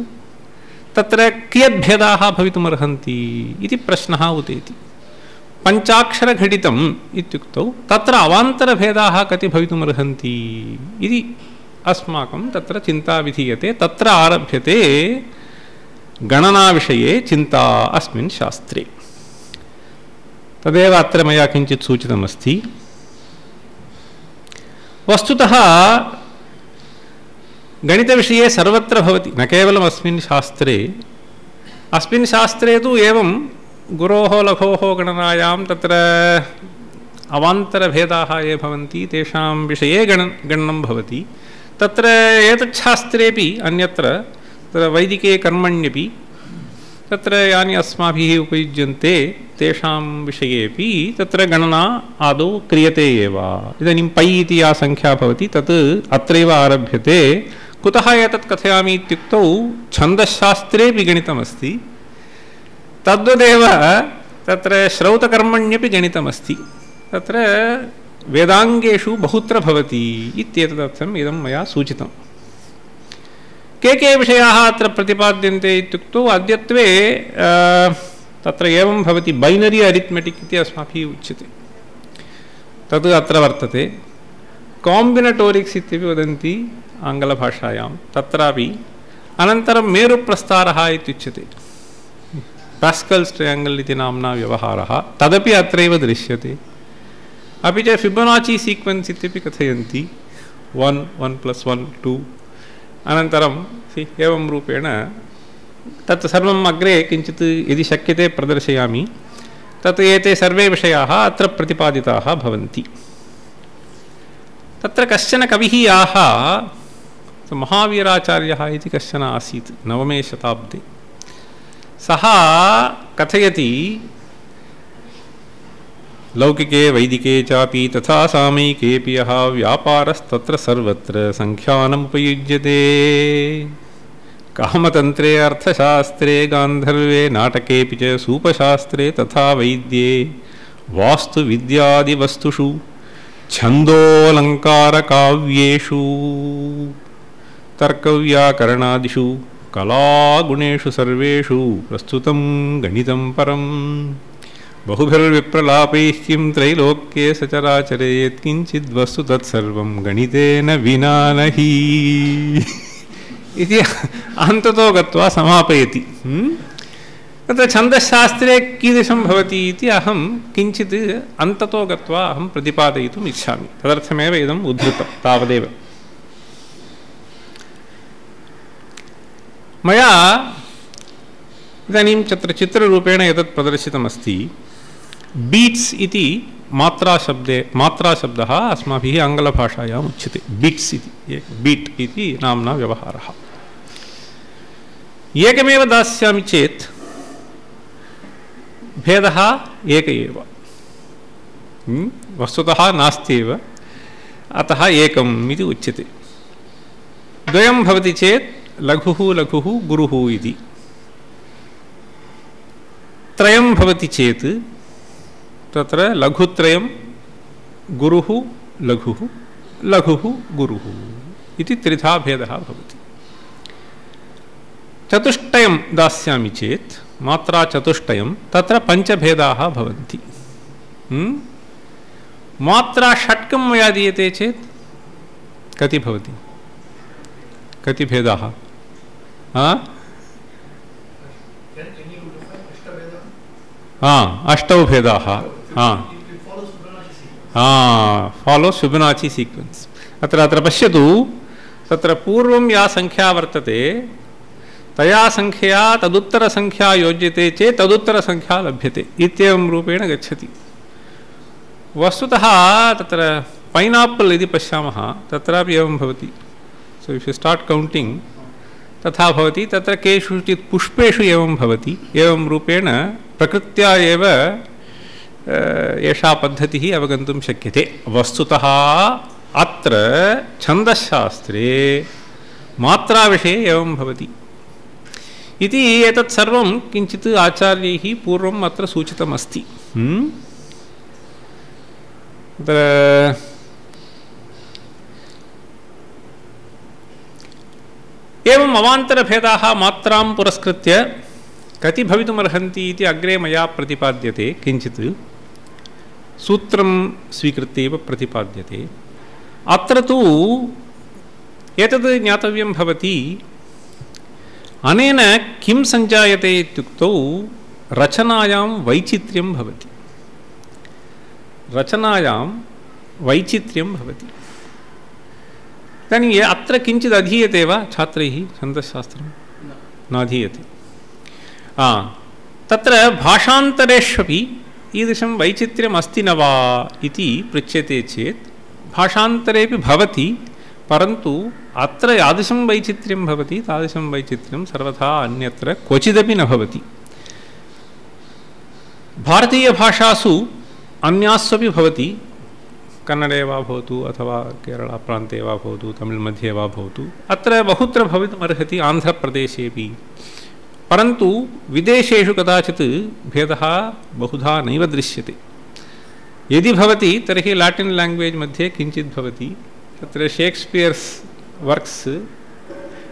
तत्र कियद्भेदाः भवितुमर्हन्ति इति प्रश्नः उदेति पञ्चाक्षरघटितम् इत्युक्तौ तत्र अवान्तरभेदाः कति भवितुमर्हन्ति इति अस्माकं तत्र चिन्ता विधीयते तत्र आरभ्यते गणनाविषये चिन्ता अस्मिन् शास्त्रे तदेव अत्र मया किञ्चित् सूचितमस्ति वस्तुतः गणितविषये सर्वत्र भवति न केवलम् अस्मिन् शास्त्रे तु एवं गुरोः लघोः गणनायां तत्र अवान्तरभेदाः ये भवन्ति तेषां विषये गणनं भवति तत्र एतच्छास्त्रेपि अन्यत्र तत्र वैदिके कर्मण्यपि तत्र यानि अस्माभिः उपयुज्यन्ते तेषां विषयेपि तत्र गणना आदौ क्रियते एव इदानीं पै इति या संख्या भवति तत् अत्रैव आरभ्यते कुतः एतत् कथयामि इत्युक्तौ छन्दशास्त्रेपि गणितमस्ति तद्वदेव तत्र श्रौतकर्मण्यपि गणितमस्ति तत्र वेदाङ्गेषु बहुत्र भवति इत्येतदर्थम् इदं मया सूचितं के विषयाः अत्र प्रतिपाद्यन्ते इत्युक्तौ अद्यत्वे तत्र एवं भवति बैनरी अरिथमेटिक् इति अस्माभिः उच्यते तद् अत्र वर्तते काम्बिनेटोरिक्स् इत्यपि वदन्ति आङ्ग्लभाषायां तत्रापि अनन्तरं मेरुप्रस्तारः इत्युच्यते पास्कल्स् ट्रयाङ्गल् इति नाम्ना व्यवहारः तदपि अत्रैव दृश्यते अपि च फिबोनाची सीक्वेन्स् इत्यपि कथयन्ति 1 1 + 1 2 अनन्तरं एवं रूपेण तत् सर्वम् अग्रे किञ्चित् यदि शक्यते प्रदर्शयामि। तत् एते सर्वे विषयाः अत्र प्रतिपादिताः भवन्ति। तत्र कश्चन कविः आह महावीराचार्यः इति कश्चन आसीत् 9मे शताब्दे। सः कथयति लौकिके वैदिके चापि तथा सामयिकेऽपि यः व्यापारस्तत्र सर्वत्र संख्यानमुपयुज्यते। कामतन्त्रे अर्थशास्त्रे गान्धर्वे नाटकेऽपि च सूपशास्त्रे तथा वैद्ये वास्तुविद्यादिवस्तुषु छन्दोऽलङ्कारकाव्येषु तर्कव्याकरणादिषु कलागुणेषु सर्वेषु प्रस्तुतं गणितं परम् बहुभिर्विप्रलापैः किं त्रैलोक्ये सचराचरे यत्किञ्चिद्वस्तु तत्सर्वं गणितेन विना नहि इति अन्ततो गत्वा समापयति। तत्र छन्दशास्त्रे कीदृशं भवति इति अहं किञ्चित् अन्ततो गत्वा अहं प्रतिपादयितुम् इच्छामि। तदर्थमेव इदम् उद्धृतं तावदेव। मया इदानीं चित्ररूपेण एतत् प्रदर्शितमस्ति। बीट्स् इति मात्राशब्दः अस्माभिः आङ्ग्लभाषायाम् उच्यते। बीट्स् इति बीट् इति नाम्ना व्यवहारः। एकमेव दास्यामि चेत् भेदः एक एव, वस्तुतः नास्त्येव, अतः एकम् इति उच्यते। द्वयं भवति चेत् लघुः लघुः गुरुः इति। त्रयं भवति चेत् तत्र लघुत्रयं गुरुः लघुः लघुः गुरुः इति त्रिधा भेदः भवति। चतुष्टयं दास्यामि चेत् मात्राचतुष्टयं तत्र पञ्चभेदाः भवन्ति। मात्राषट्कं मया दीयते चेत् कति भवति? कति भेदाः? अष्टौ भेदाः। Follow Fibonacci sequence. अत्र पश्यतु, तत्र पूर्वं या संख्या वर्तते तया संख्या तदुत्तरसंख्या योज्यते चेत् तदुत्तरसंख्या लभ्यते इत्येवं रूपेण गच्छति। वस्तुतः तत्र पैनापल् यदि पश्यामः तत्रापि एवं भवति। So if you start counting तथा भवति। तत्र केषुचित् पुष्पेषु एवं भवति। एवं रूपेण प्रकृत्या एव एषा पद्धतिः अवगन्तुं शक्यते। वस्तुतः अत्र छन्दशास्त्रे मात्राविषये एवं भवति इति एतत् सर्वं किञ्चित् आचार्यैः पूर्वम् अत्र सूचितमस्ति। एवम् अवान्तरभेदाः मात्रां पुरस्कृत्य कति भवितुमर्हन्ति इति अग्रे मया प्रतिपाद्यते। किञ्चित् सूत्रं स्वीकृत्य एव प्रतिपाद्यते। अत्र तु एतद् ज्ञातव्यं भवति, अनेन किं सञ्जायते इत्युक्तौ रचनायां वैचित्र्यं भवति। रचनायां वैचित्र्यं भवति। इदानीम् अत्र किञ्चित् अधीयते वा छात्रैः छन्दशास्त्रं? नाधीयते। तत्र भाषान्तरेष्वपि ईदृशं वैचित्र्यम् अस्ति न वा इति पृच्छ्यते चेत् भाषान्तरेपि भवति, परन्तु अत्र यादृशं वैचित्र्यं भवति तादृशं वैचित्र्यं सर्वथा अन्यत्र क्वचिदपि न भवति। भारतीयभाषासु अन्यास्वपि भवति। कन्नडे वा भवतु अथवा केरळाप्रान्ते वा भवतु, तमिळ् मध्ये वा भवतु, अत्र बहुत्र भवितुमर्हति, आन्ध्रप्रदेशेपि। परन्तु विदेशेषु कदाचित् भेदः बहुधा नैव दृश्यते। यदि भवति तर्हि लाटिन् लाङ्ग्वेज् मध्ये किञ्चित् भवति। तत्र शेक्स्पियर्स् वर्क्स्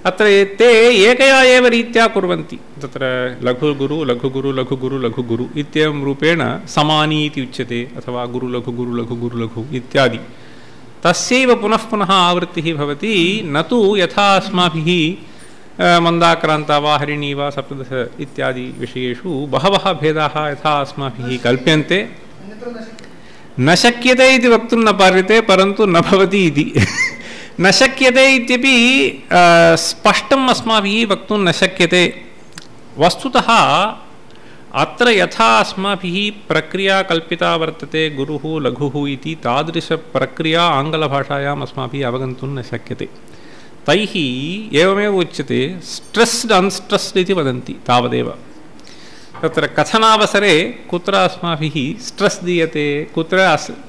अत्र ते एकया एव रीत्या कुर्वन्ति। तत्र लघुगुरु लघुगुरु लघुगुरु लघुगुरु इत्येवं रूपेण समानी इति उच्यते, अथवा गुरु लघुगुरु लघुगुरु लघु इत्यादि। तस्यैव पुनः पुनः आवृत्तिः भवति, न तु यथा अस्माभिः मन्दाक्रान्ता वा हरिणी वा सप्तदश इत्यादि विषयेषु बहवः भेदाः यथा अस्माभिः कल्प्यन्ते। न शक्यते इति वक्तुं न पार्यते, परन्तु न भवति इति न शक्यते इत्यपि स्पष्टम् अस्माभिः वक्तुं न शक्यते। वस्तुतः अत्र यथा अस्माभिः प्रक्रिया कल्पिता वर्तते गुरुः लघुः इति तादृशप्रक्रिया आङ्ग्लभाषायाम् अस्माभिः अवगन्तुं न शक्यते। तैः एवमेव उच्यते स्ट्रेस्ड् अनस्ट्रेस्ड् इति वदन्ति तावदेव। तत्र कथनावसरे कुत्र अस्माभिः स्ट्रेस् दीयते कुत्र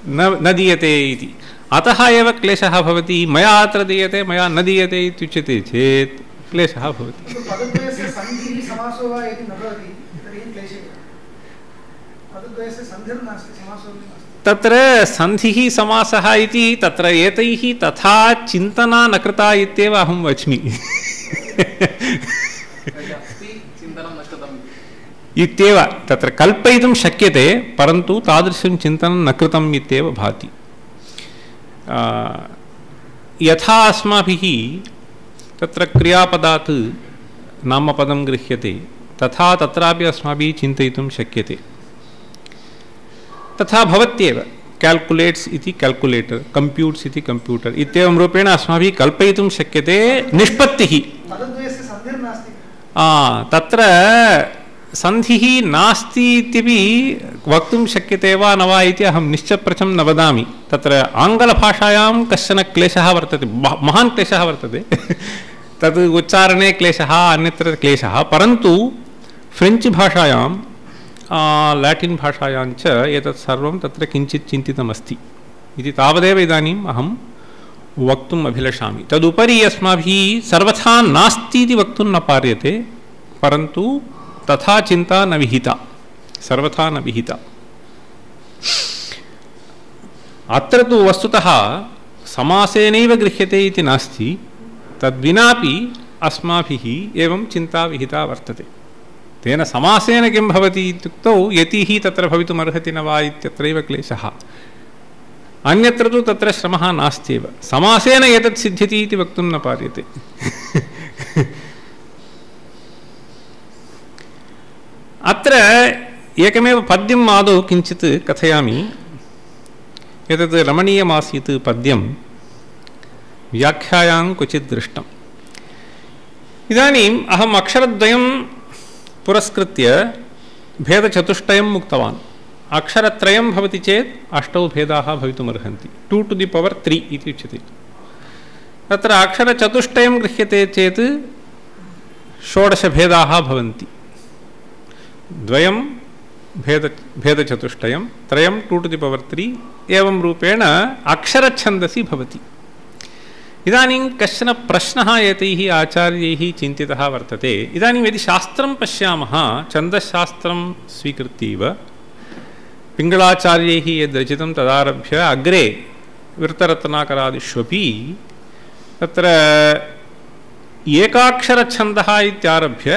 न दीयते इति अतः एव क्लेशः भवति। मया अत्र दीयते मया न दीयते इत्युच्यते चेत् क्लेशः भवति। पदद्वयस्य सन्धिः समासो वा इति न भवति तर्हि क्लेशः। पदद्वयस्य सन्धिर्नास्ति समासो नास्ति। तत्र सन्धिः समासः इति तत्र एतैः तथा चिन्तना न कृता इत्येव अहं वच्मि। इत्येव तत्र कल्पयितुं शक्यते परन्तु तादृशं चिन्तनं न कृतम् इत्येव भाति। यथा अस्माभिः तत्र क्रियापदात् नामपदं गृह्यते तथा तत्रापि अस्माभिः चिन्तयितुं शक्यते। तथा भवत्येव कैल्कुलेट्स् इति कैल्कुलेटर् कम्प्यूट्स् इति कम्प्यूटर् इत्येवं रूपेण अस्माभिः कल्पयितुं शक्यते निष्पत्तिः। तत्र सन्धिः नास्ति इत्यपि वक्तुं शक्यते वा न वा इति अहं निश्चप्रचं न वदामि। तत्र आङ्ग्लभाषायां कश्चन क्लेशः वर्तते महान् क्लेशः वर्तते तद् उच्चारणे क्लेशः अन्यत्र क्लेशः परन्तु फ्रेञ्च् भाषायां लाटिन् भाषायां च एतत् सर्वं तत्र किञ्चित् चिन्तितमस्ति इति तावदेव इदानीम् अहं वक्तुम् अभिलषामि। तदुपरि अस्माभिः सर्वथा नास्ति इति वक्तुं न पार्यते परन्तु तथा चिन्ता न विहिता सर्वथा न विहिता। अत्र तु वस्तुतः समासेनैव गृह्यते इति नास्ति तद्विनापि अस्माभिः एवं चिन्ता विहिता वर्तते। तेन समासेन किं भवति इत्युक्तौ यतिः तत्र भवितुमर्हति न वा इत्यत्रैव क्लेशः। अन्यत्र तु तत्र श्रमः नास्त्येव। समासेन एतत् सिद्ध्यति इति वक्तुं न पार्यते। अत्र एकमेव पद्यम् आदौ किञ्चित् कथयामि। एतत् रमणीयमासीत् पद्यं व्याख्यायां क्वचित् दृष्टम्। इदानीम् अहम् अक्षरद्वयं पुरस्कृत्य भेदचतुष्टयम् उक्तवान्। अक्षरत्रयं भवति चेत् 8 भेदाः भवितुमर्हन्ति 2 to the power 3 इति उच्यते। तत्र अक्षरचतुष्टयं गृह्यते चेत् 16 भेदाः भवन्ति। 2 भेदचतुष्टयं 3 2 to the power 3 एवं रूपेण अक्षरच्छन्दसि भवति। इदानीं कश्चन प्रश्नः एतैः आचार्यैः चिन्तितः वर्तते। इदानीं यदि शास्त्रं पश्यामः छन्दशास्त्रं स्वीकृत्यैव पिङ्गळाचार्यैः यद्रचितं तदारभ्य अग्रे वृत्तरत्नाकरादिष्वपि तत्र एकाक्षरच्छन्दः इत्यारभ्य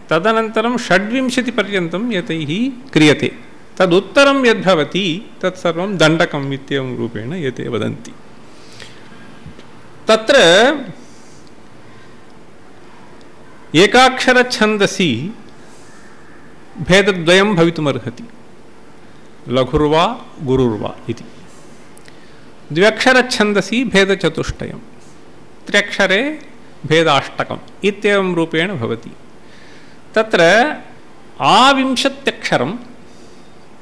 तदनन्तरं 26 पर्यन्तं एतैः क्रियते। तदुत्तरं यद्भवति तत्सर्वं दण्डकम् इत्येवं रूपेण एते वदन्ति। तत्र एकाक्षरच्छन्दसि भेदद्वयं भवितुमर्हति लघुर्वा गुरुर्वा इति। द्व्यक्षरच्छन्दसि भेदचतुष्टयं 3 अक्षरे भेदाष्टकम् इत्येवं रूपेण भवति। तत्र आविंशत्यक्षरं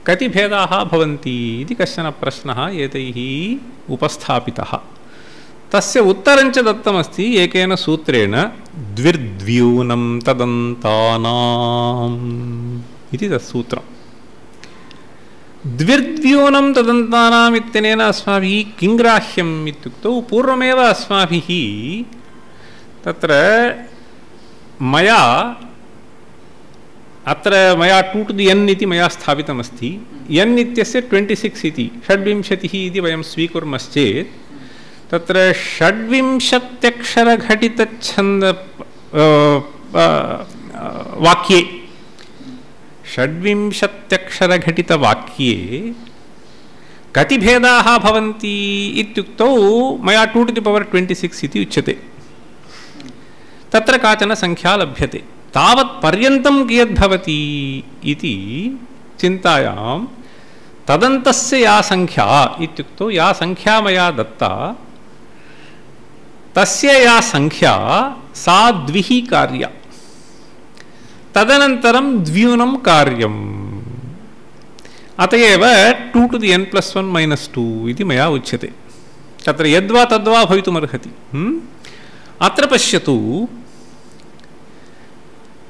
कति भेदाः भवन्ति इति कश्चन प्रश्नः एतैः उपस्थापितः। तस्य उत्तरञ्च दत्तमस्ति एकेन सूत्रेण द्विर्द्व्यूनं तदन्तानाम् इति तत्सूत्रम्। द्विर्द्व्यूनं तदन्तानाम् इत्यनेन अस्माभिः किं ग्राह्यम् इत्युक्तौ पूर्वमेव अस्माभिः तत्र मया 2 to the n इति मया स्थापितमस्ति। n इत्यस्य 26 इति 26 इति वयं स्वीकुर्मश्चेत् तत्र 26 अक्षरघटितच्छन्द वाक्ये 26 अक्षरघटितवाक्ये कति भेदाः भवन्ति इत्युक्तौ मया 2 to the power 26 इति उच्यते। तत्र काचन संख्या लभ्यते। तावत् पर्यन्तं कियद्भवति इति चिन्तायां तदन्तस्य या संख्या इत्युक्तौ या संख्या मया दत्ता तस्य या संख्या सा 2 कार्या। तदनन्तरं द्व्यूनं कार्यम् अत एव 2 to the n plus 1 minus 2 इति मया उच्यते तत्र यद्वा तद्वा भवितुमर्हति अत्र पश्यतु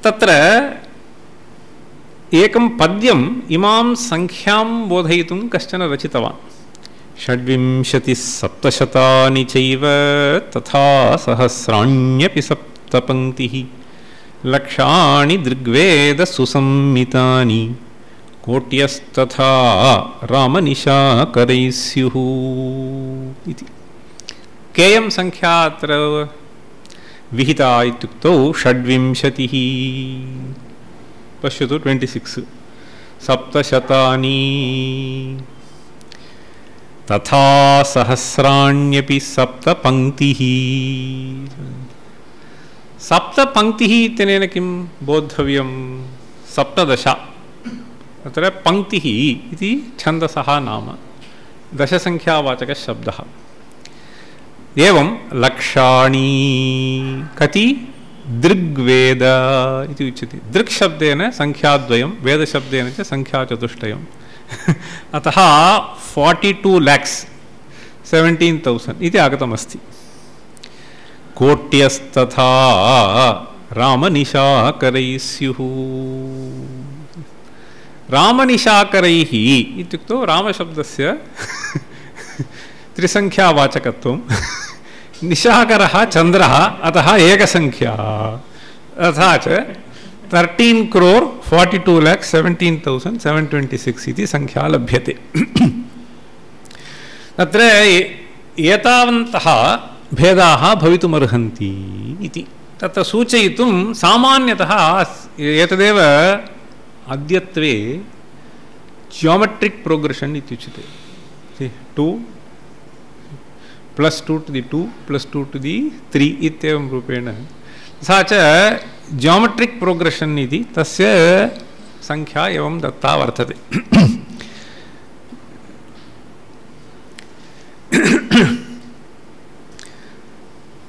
तत्र एकं पद्यम् इमां संख्यां बोधयितुं कश्चन रचितवान् 67 चैव तथा सहस्राण्यपि सप्तपङ्क्तिः लक्षाणि दृग्वेद सुसंमितानि कोट्यस्तथा रामनिशाकरैः स्युः इति केयं संख्या अत्र विहिता इत्युक्तौ 26 पश्यतु 26 सप्तशतानि तथा सहस्राण्यपि सप्तपङ्क्तिः सप्तपङ्क्तिः इत्यनेन किं बोद्धव्यं 17 अत्र पङ्क्तिः इति छन्दसः नाम दशसङ्ख्यावाचकः शब्दः एवं लक्षाणि कति दृग्वेद इति उच्यते दृक् शब्देन संख्याद्वयं वेदशब्देन च संख्याचतुष्टयम् अतः 42 lakhs 17,000 इति आगतमस्ति कोट्यस्तथा रामनिशाकरैः स्युः रामनिशाकरैः इत्युक्तौ रामशब्दस्य त्रिसङ्ख्यावाचकत्वं निशाकरः चन्द्रः अतः एकसङ्ख्या तथा च 13,42,17,726 इति संख्या लभ्यते तत्र एतावन्तः भेदाः भवितुमर्हन्ति इति तत्र सूचयितुं सामान्यतः एतदेव अद्यत्वे जियोमेट्रिक् प्रोग्रेशन् इत्युच्यते 2 + 2 to the 2 + 2 to the 3 इत्येवं रूपेण सा च जियोमेट्रिक् प्रोग्रेशन् इति तस्य संख्या एवं दत्ता वर्तते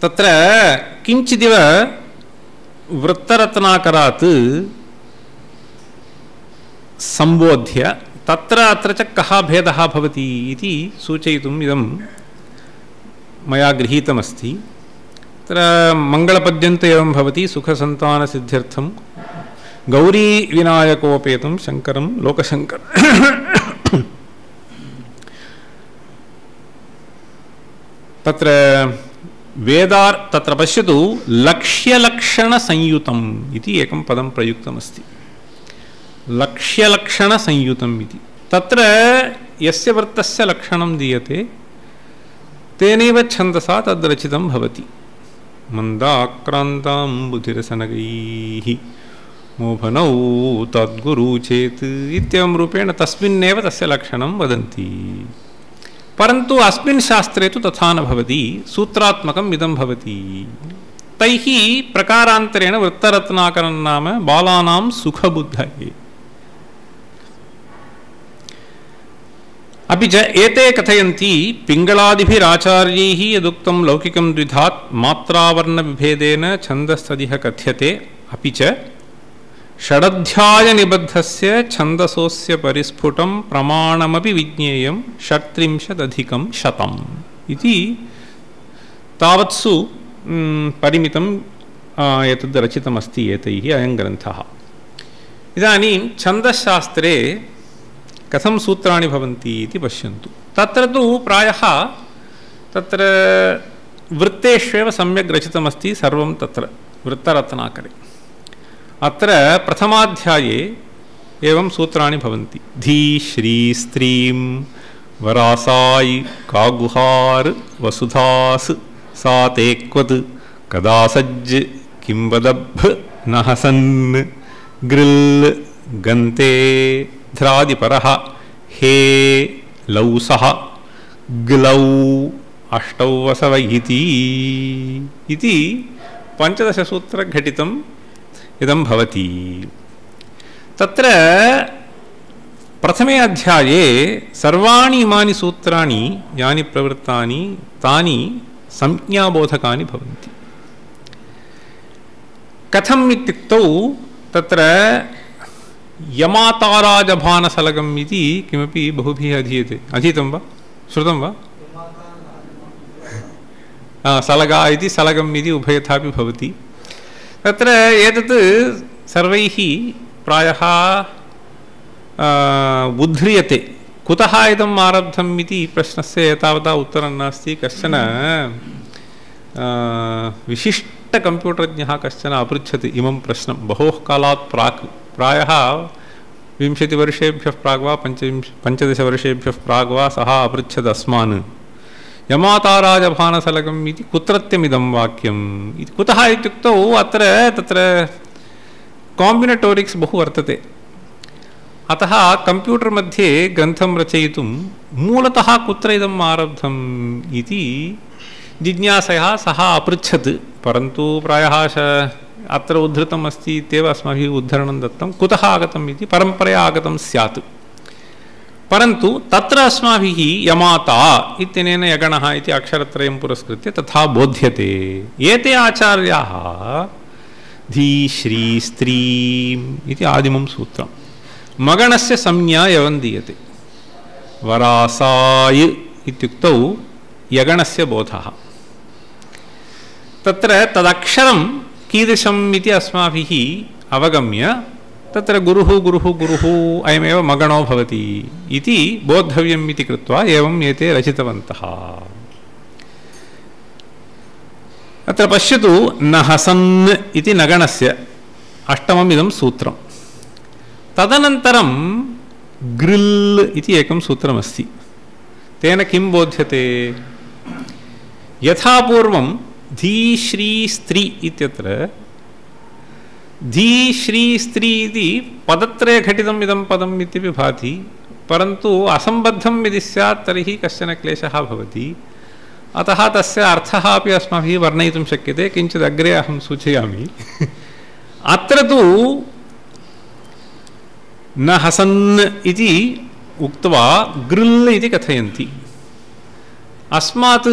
तत्र किञ्चिदिव वृत्तरत्नाकरात् संबोध्य तत्र अत्र च कः भेदः भवति इति सूचयितुम् इदं मया गृहीतमस्ति तत्र मङ्गलपद्यन्ते एवं भवति सुखसन्तानसिद्ध्यर्थं गौरीविनायकोपेतं शङ्करं लोकशङ्कर तत्र तत्र पश्यतु लक्ष्यलक्षणसंयुतम् इति एकं पदं प्रयुक्तमस्ति लक्ष्यलक्षणसंयुतम् इति तत्र यस्य वृत्तस्य लक्षणं दीयते तेनैव छन्दसा तद्रचितं भवति मन्दाक्रान्ताम्बुधिरसनगैः मोहनौ तद्गुरु चेत् इत्येवं रूपेण तस्मिन्नेव तस्य लक्षणं वदन्ति परन्तु अस्मिन् शास्त्रे तु तथा न भवति सूत्रात्मकम् इदं भवति तैः प्रकारान्तरेण वृत्तरत्नाकरं नाम बालानां सुखबुद्धये अपि च एते कथयन्ति पिङ्गलादिभिराचार्यैः यदुक्तं लौकिकं द्विधात् मात्रावर्णविभेदेन छन्दस्तदिह कथ्यते अपि च षडध्यायनिबद्धस्य छन्दसोऽस्य परिस्फुटं प्रमाणमपि विज्ञेयं 37+100 इति तावत्सु परिमितं एतद् रचितमस्ति एतैः अयं ग्रन्थः इदानीं छन्दशास्त्रे कथं सूत्राणि भवन्ति इति पश्यन्तु तत्र तु प्रायः तत्र वृत्तेष्वेव सम्यक् रचितमस्ति सर्वं तत्र वृत्तरत्नाकरे अत्र प्रथमाध्याये एवं सूत्राणि भवन्ति धी श्री स्त्रीं वरासायि कागुहार वसुधास् सा तेक्वत् कदासज्ज किंवदभ् नहसन् ग्रिल् गन्ते ध्रादिपरः हे लौसः ग्लौ अष्टौ वसव इति 15 सूत्रघटितम् इदं भवति तत्र प्रथमे अध्याये सर्वाणि इमानि सूत्राणि यानि प्रवृत्तानि तानि संज्ञाबोधकानि भवन्ति कथम् इत्युक्तौ तत्र यमाताराजभानसलगम् इति किमपि बहुभिः अधीयते, अधीतं वा श्रुतं वा? सलगा इति सलगम् इति उभयथापि भवति। तत्र एतत् सर्वैः प्रायः उद्ध्रियते। कुतः इदम् आरब्धम् इति प्रश्नस्य एतावता उत्तरं नास्ति। कश्चन विशिष्टकम्प्यूटर्ज्ञः कश्चन अपृच्छति इमं प्रश्नं बहोः कालात् प्राक्, प्रायः 20 वर्षेभ्यः प्राग् वा 15 वर्षेभ्यः प्राग् वा सः अपृच्छत् अस्मान्, यमाताराजभानसलगम् इति कुत्रत्यमिदं वाक्यम् इति। कुतः इत्युक्तौ अत्र तत्र काम्बिनेटोरिक्स् बहु वर्तते। अतः कम्प्यूटर् मध्ये ग्रन्थं रचयितुं मूलतः कुत्र इदम् आरब्धम् इति जिज्ञासया सः अपृच्छत्। परन्तु प्रायः अत्र उद्धृतम् अस्ति इत्येव अस्माभिः उद्धरणं दत्तं। कुतः आगतम् इति परम्परया आगतं स्यात्। परन्तु तत्र अस्माभिः यमाता इत्यनेन यगणः इति अक्षरत्रयं पुरस्कृत्य तथा बोध्यते। एते आचार्याः धी श्री स्त्रीम् इति आदिमं सूत्रं मगणस्य संज्ञा यवन् दीयते। वरासाय इत्युक्तौ यगणस्य बोधः। तत्र तदक्षरं कीदृशम् इति अस्माभिः अवगम्य तत्र गुरुः गुरुः गुरुः अयमेव मगणो भवति इति बोद्धव्यम् इति कृत्वा एवम् एते रचितवन्तः। अत्र पश्यतु, नहसन् इति नगणस्य अष्टमम् इदं सूत्रं। तदनन्तरं गृल् इति एकं सूत्रमस्ति। तेन किं बोध्यते? यथा पूर्वं धी श्री स्त्री इत्यत्र धी श्री स्त्री इति पदत्रये घटितम् इदं पदम् इत्यपि भाति। परन्तु असम्बद्धं यदि स्यात् तर्हि कश्चन क्लेशः भवति। अतः तस्य अर्थः अपि अस्माभिः वर्णयितुं शक्यते। किञ्चित् अग्रे अहं सूचयामि। अत्र तु न हसन् इति उक्त्वा गृल् इति कथयन्ति। अस्मात्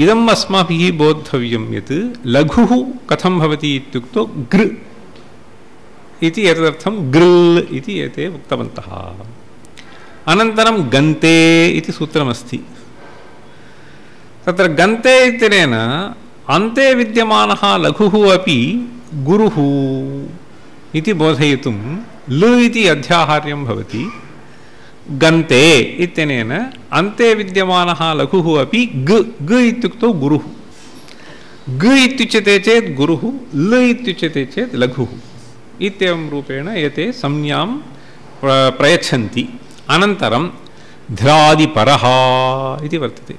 इदम् अस्माभिः बोद्धव्यं यत् लघुः कथं भवति इत्युक्तौ गृ इति एतदर्थं गृल् इति एते उक्तवन्तः। अनन्तरं गन्ते इति सूत्रमस्ति। तत्र गन्ते इत्यनेन अन्ते विद्यमानः लघुः अपि गुरुः इति बोधयितुं ल इति अध्याहार्यं भवति। गन्ते इत्यनेन अन्ते विद्यमानः लघुः अपि ग ग इत्युक्तौ गुरुः। ग इत्युच्यते चेत् गुरुः, ल इत्युच्यते चेत् लघुः इत्येवं रूपेण एते संज्ञां प्रयच्छन्ति। अनन्तरं ध्रादिपरः इति वर्तते।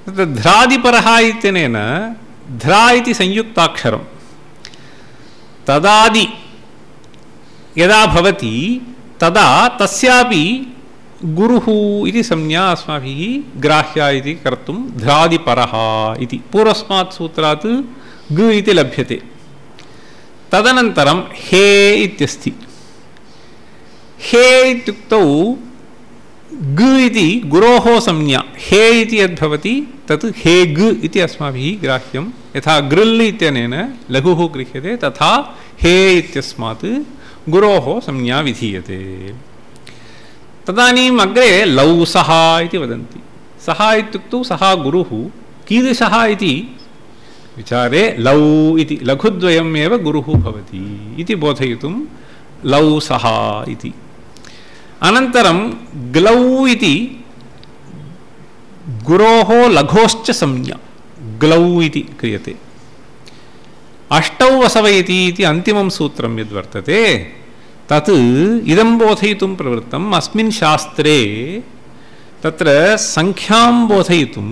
तत्र ध्रादिपरः इत्यनेन ध्रा इति संयुक्ताक्षरं तदादि यदा भवति तदा तस्यापि गुरुः इति संज्ञा अस्माभिः ग्राह्या इति कर्तुं ध्रादिपरः इति पूर्वस्मात् सूत्रात् ग इति लभ्यते। तदनन्तरं हे इत्यस्ति। हे इत्युक्तौ ग इति गुरोः संज्ञा। हे इति यद्भवति तत् हे ग इति अस्माभिः ग्राह्यं। यथा गृल् इत्यनेन लघुः गृह्यते तथा हे इत्यस्मात् गुरोः संज्ञा विधीयते। तदानीम् अग्रे लौसः इति वदन्ति। सः इत्युक्तौ सः गुरुः कीदृशः इति विचारे लौ इति लघुद्वयम् एव गुरुः भवति इति बोधयितुं लौसः इति। अनन्तरं ग्लौ इति गुरोः लघोश्च संज्ञा ग्लौ इति क्रियते। अष्टौ वसवयति इति अन्तिमं सूत्रं यद्वर्तते तत् इदं बोधयितुं प्रवृत्तम्। अस्मिन् शास्त्रे तत्र संख्यां बोधयितुं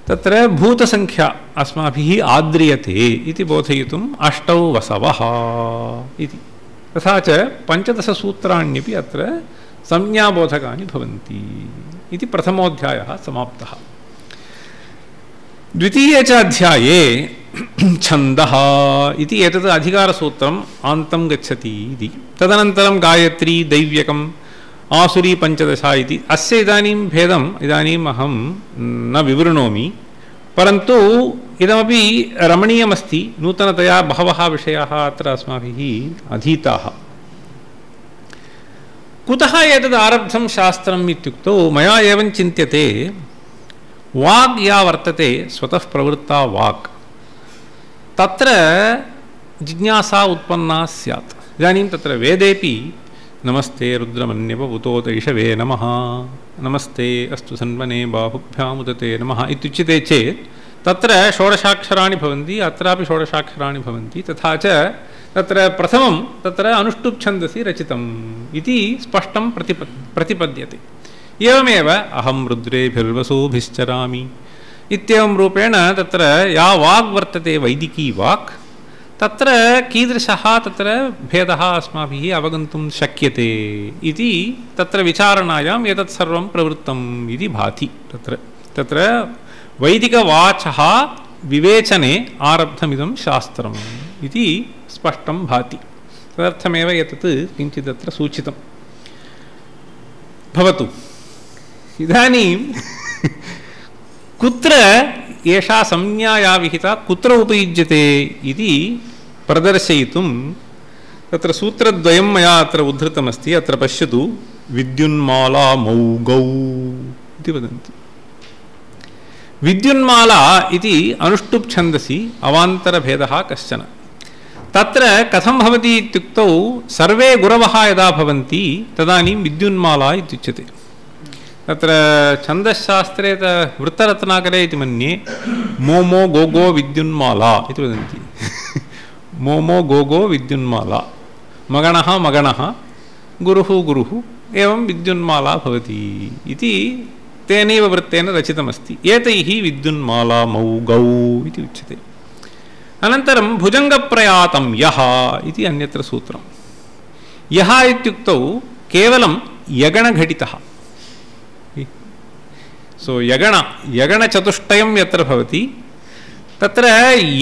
तत्र भूतसंख्या अस्माभिः आद्रियते इति बोधयितुम् अष्टौ वसवः इति। तथा च 15 सूत्राण्यपि अत्र संज्ञाबोधकानि भवन्ति इति प्रथमोऽध्यायः समाप्तः। द्वितीये च अध्याये छन्दः इति एतत् अधिकारसूत्रम् आन्तं गच्छति इति। तदनन्तरं गायत्री दैव्यकम् आसुरी 15 इति। अस्य इदानीं भेदम् इदानीम् अहं न विवृणोमि। परन्तु इदमपि रमणीयमस्ति नूतनतया बहवः विषयाः अत्र अस्माभिः अधीताः कुतः एतद् आरब्धं शास्त्रम् इत्युक्तौ मया एवं चिन्त्यते वाग् या वर्तते स्वतः प्रवृत्ता वाक् तत्र जिज्ञासा उत्पन्ना स्यात् इदानीं तत्र वेदेपि नमस्ते रुद्रमन्यव उतोतैषवे नमः नमस्ते अस्तु सन्वने बाहुभ्यामुदते नमः इत्युच्यते चेत् तत्र षोडशाक्षराणि भवन्ति अत्रापि षोडशाक्षराणि भवन्ति तथा च तत्र प्रथमं तत्र अनुष्टुप् छन्दसि रचितम् इति स्पष्टं प्रतिपद्यते एवमेव अहं रुद्रेभिर्वसुभिश्चरामि इत्येवं रूपेण तत्र या वाग् वर्तते वैदिकी वाक् तत्र कीदृशः तत्र भेदः अस्माभिः अवगन्तुं शक्यते इति तत्र विचारणायाम् एतत् सर्वं प्रवृत्तम् इति भाति तत्र वैदिकवाचः विवेचने आरब्धमिदं शास्त्रम् इति स्पष्टं भाति तदर्थमेव एतत् किञ्चिदत्र सूचितं भवतु इदानीं कुत्र एषा संज्ञा या विहिता कुत्र उपयुज्यते इति प्रदर्शयितुं तत्र सूत्रद्वयं मया अत्र उद्धृतमस्ति अत्र पश्यतु विद्युन्माला मौगौ इति वदन्ति विद्युन्माला इति अनुष्टुप् छन्दसि अवान्तरभेदः कश्चन तत्र कथं भवति इत्युक्तौ सर्वे गुरवः यदा भवन्ति तदानीं विद्युन्माला इत्युच्यते तत्र छन्दशास्त्रे वृत्तरत्नाकरे इति मन्ये मोमो गोगो विद्युन्माला इति वदन्ति मोमो गोगो विद्युन्माला मगणः मगणः गुरुः गुरुः एवं विद्युन्माला भवति इति तेनैव वृत्तेन रचितमस्ति एतैः विद्युन्माला मौगौ इति उच्यते अनन्तरं भुजङ्गप्रयातं यः इति अन्यत्र सूत्रं यः इत्युक्तौ केवलं यगणघटितः सो यगणचतुष्टयं यत्र भवति तत्र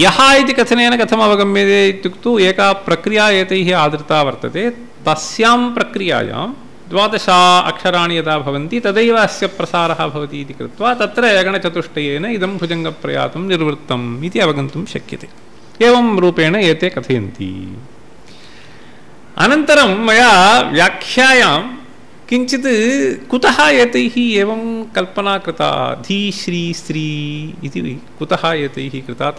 यः इति कथनेन कथम् अवगम्यते इत्युक्तौ एका प्रक्रिया एतैः आदृता वर्तते तस्यां प्रक्रियायां 12 अक्षराणि यदा भवन्ति तदैव अस्य प्रसारः भवति इति कृत्वा तत्र यगणचतुष्टयेन इदं भुजङ्गप्रयातं निर्वृत्तम् इति अवगन्तुं शक्यते एवं रूपेण एते कथयन्ति अनन्तरं मया व्याख्यायां किञ्चित् कुतः एतैः एवं कल्पना कृता धी श्री स्त्री इति कुतः एतैः कृता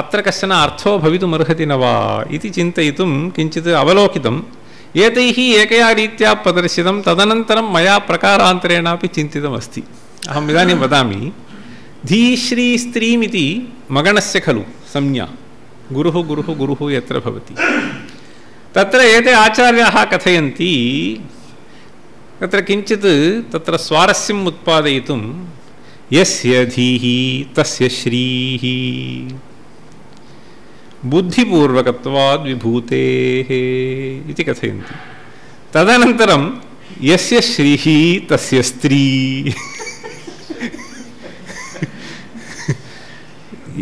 अत्र कश्चन अर्थो भवितुमर्हति न वा इति चिन्तयितुं किञ्चित् अवलोकितम् एतैः एकया रीत्या प्रदर्शितं तदनन्तरं मया प्रकारान्तरेणापि चिन्तितमस्ति अहम् इदानीं वदामि धी श्री स्त्रीमिति मगणस्य खलु संज्ञा गुरुः गुरुः गुरुः यत्र भवति तत्र एते आचार्याः कथयन्ति तत्र किञ्चित् तत्र स्वारस्यम् उत्पादयितुं यस्य धीः तस्य श्रीः बुद्धिपूर्वकत्वाद् विभूतेः इति कथयन्ति तदनन्तरं यस्य श्रीः तस्य स्त्री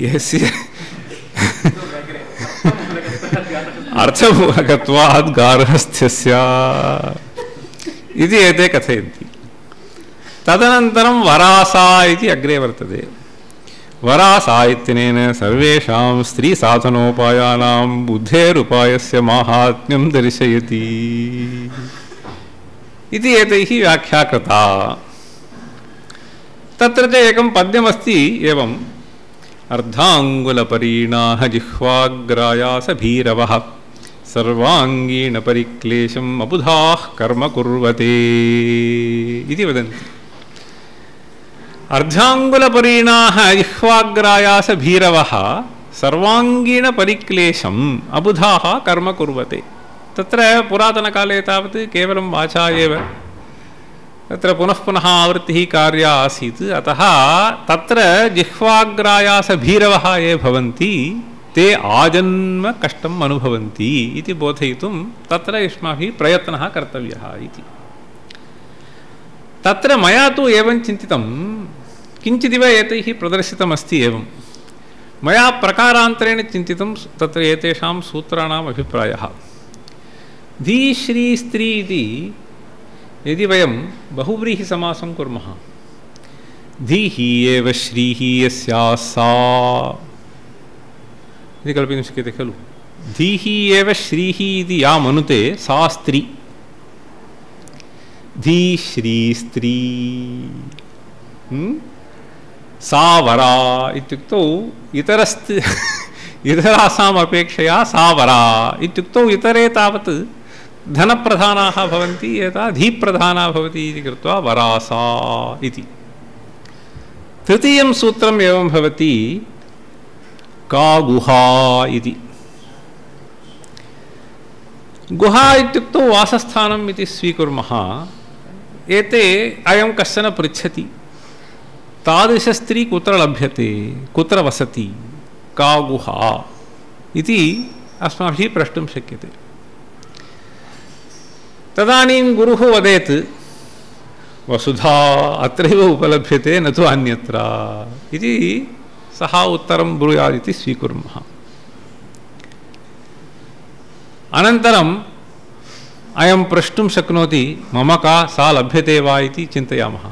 यस्य अर्थपूर्वकत्वाद् गार्हस्थ्यस्य इति एते कथयन्ति तदनन्तरं वरासा इति अग्रे वर्तते वरासा इत्यनेन सर्वेषां स्त्रीसाधनोपायानां बुद्धेरुपायस्य माहात्म्यं दर्शयति इति एतैः व्याख्या कृता तत्र च एकं पद्यमस्ति एवम् अर्धाङ्गुलपरीणाः जिह्वाग्रायासभीरवः सर्वाङ्गीणपरिक्लेशम् अबुधाः कर्म कुर्वते इति वदन्ति अर्धाङ्गुलपरीणाः जिह्वाग्रायासभीरवः सर्वाङ्गीणपरिक्लेशम् अबुधाः कर्म कुर्वते तत्र पुरातनकाले तावत् केवलं वाचा एव तत्र पुनः पुनः आवृत्तिः कार्या आसीत् अतः तत्र जिह्वाग्रायासभीरवः ये भवन्ति ते आजन्म कष्टम् अनुभवन्ति इति बोधयितुं तत्र युष्माभिः प्रयत्नः कर्तव्यः इति तत्र मया तु एवं चिन्तितं किञ्चिदिव एतैः प्रदर्शितमस्ति एवं मया प्रकारान्तरेण चिन्तितं तत्र एतेषां सूत्राणाम् अभिप्रायः धी श्री स्त्री इति यदि वयं बहुव्रीहिसमासं कुर्मः धीहि एव श्रीः यस्याः सा इति कल्पयितुं शक्यते खलु। धीहि एव श्रीः इति या मनुते सा स्त्री, धी श्री स्त्री, सा वरा इत्युक्तौ इतरासाम् अपेक्षया सा वरा इत्युक्तौ इतरे तावत् धनप्रधानाः भवन्ति, एता धीप्रधाना भवति इति कृत्वा वरासा इति। तृतीयं सूत्रम् एवं भवति का गुहा इति। गुहा इत्युक्तौ वासस्थानम् इति स्वीकुर्मः। एते अयं कश्चन पृच्छति तादृशस्त्री कुत्र लभ्यते, कुत्र वसति, का गुहा इति अस्माभिः प्रष्टुं शक्यते। तदानीं गुरुः वदेत् वसुधा अत्रैव उपलभ्यते न तु अन्यत्र इति सः उत्तरं ब्रूयात् इति स्वीकुर्मः। अनन्तरम् अयं प्रष्टुं शक्नोति मम का सा लभ्यते वा इति चिन्तयामः।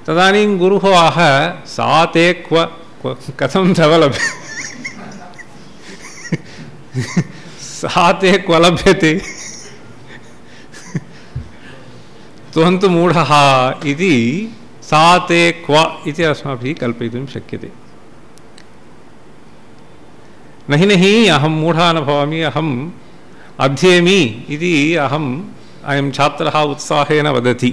तदानीं गुरुः आह सा ते कथं तव लभ्यते सा ते क्व लभ्यते त्वं तु मूढः इति सा ते क्व इति अस्माभिः कल्पयितुं शक्यते। नहि नहि अहं मूढः न भवामि, अहम् अध्येमि इति अयं छात्रः उत्साहेन वदति।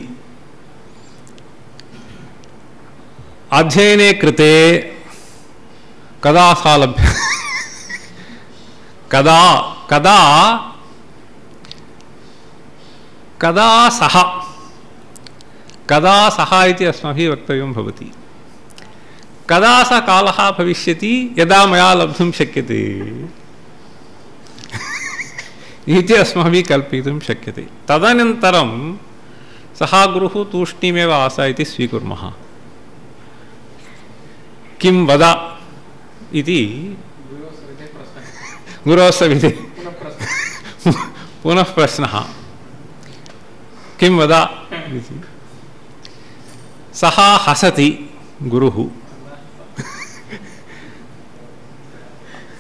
अध्ययने कृते कदा सा लभ्यते कदा सः इति अस्माभिः वक्तव्यं भवति। कदा स कालः भविष्यति यदा मया लब्धुं शक्यते इति अस्माभिः कल्पयितुं शक्यते। तदनन्तरं सः गुरुः तूष्णीमेव आस इति स्वीकुर्मः। किं वद इति गुरोः सविधे पुनः प्रश्नः किं वद इति। सः हसति गुरुः।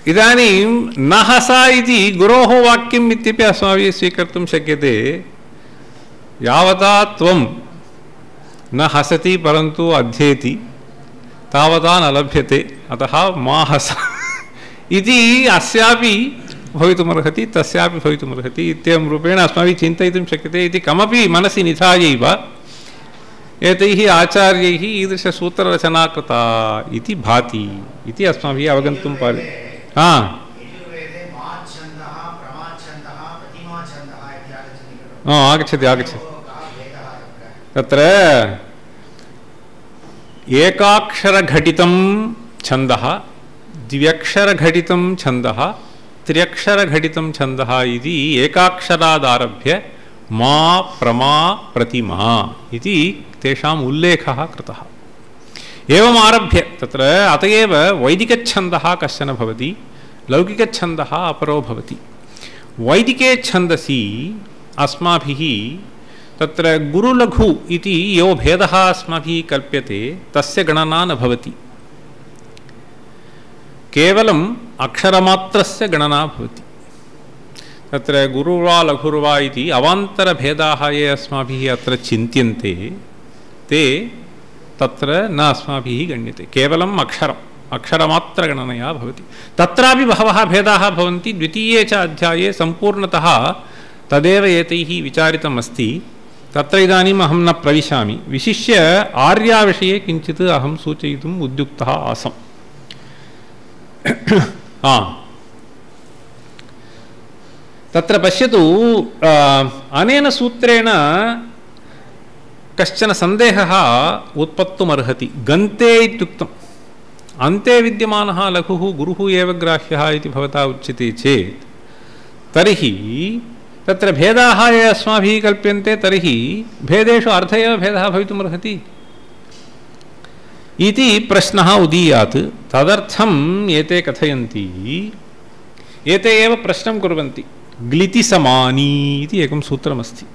इदानीं न हस इति गुरोः वाक्यम् इत्यपि अस्माभिः स्वीकर्तुं शक्यते। यावता त्वं न हसति परन्तु अध्येति तावता न लभ्यते, अतः मा हस इति अस्यापि भवितुमर्हति तस्यापि भवितुमर्हति इत्येवं रूपेण अस्माभिः चिन्तयितुं शक्यते। इति कमपि मनसि निधायैव एतैः आचार्यैः ईदृशसूत्ररचना कृता इति भाति इति अस्माभिः अवगन्तुं पार्यते। आगच्छति तत्र एकाक्षरघटितं छन्दः, द्व्यक्षरघटितं छन्दः, त्र्यक्षरघटितं छन्दः इति एकाक्षरादारभ्य मा प्रमा प्रतिमा इति तेषाम् उल्लेखः कृतः। एवम् आरभ्य तत्र अत एव वैदिकच्छन्दः कश्चन भवति, लौकिकच्छन्दः अपरो भवति। वैदिके छन्दसि अस्माभिः तत्र गुरुलघु इति यो भेदः अस्माभिः कल्प्यते तस्य गणना न भवति, केवलम् अक्षरमात्रस्य गणना भवति। तत्र गुरुर्वा लघुर्वा इति अवान्तरभेदाः ये अस्माभिः अत्र चिन्त्यन्ते ते तत्र न अस्माभिः गण्यते, केवलम् अक्षरमात्रगणनया भवति। तत्रापि बहवः भेदाः भवन्ति। द्वितीये च अध्याये सम्पूर्णतः तदेव एतैः विचारितम् अस्ति। तत्र इदानीम् अहं न प्रविशामि। विशिष्य आर्याविषये किञ्चित् अहं सूचयितुम् उद्युक्तः आसम्। तत्र पश्यतु, अनेन सूत्रेण कश्चन सन्देहः उत्पत्तुमर्हति। गन्ते इत्युक्तम्, अन्ते विद्यमानः लघुः गुरुः एव ग्राह्यः इति भवता उच्यते चेत् तर्हि तत्र भेदाः ये अस्माभिः कल्प्यन्ते तर्हि भेदेषु अर्थ एव भेदः भवितुमर्हति इति प्रश्नः उदीयात्। तदर्थम् एते कथयन्ति, एते एव प्रश्नं कुर्वन्ति। ग्लिति समानी इति एकं सूत्रमस्ति।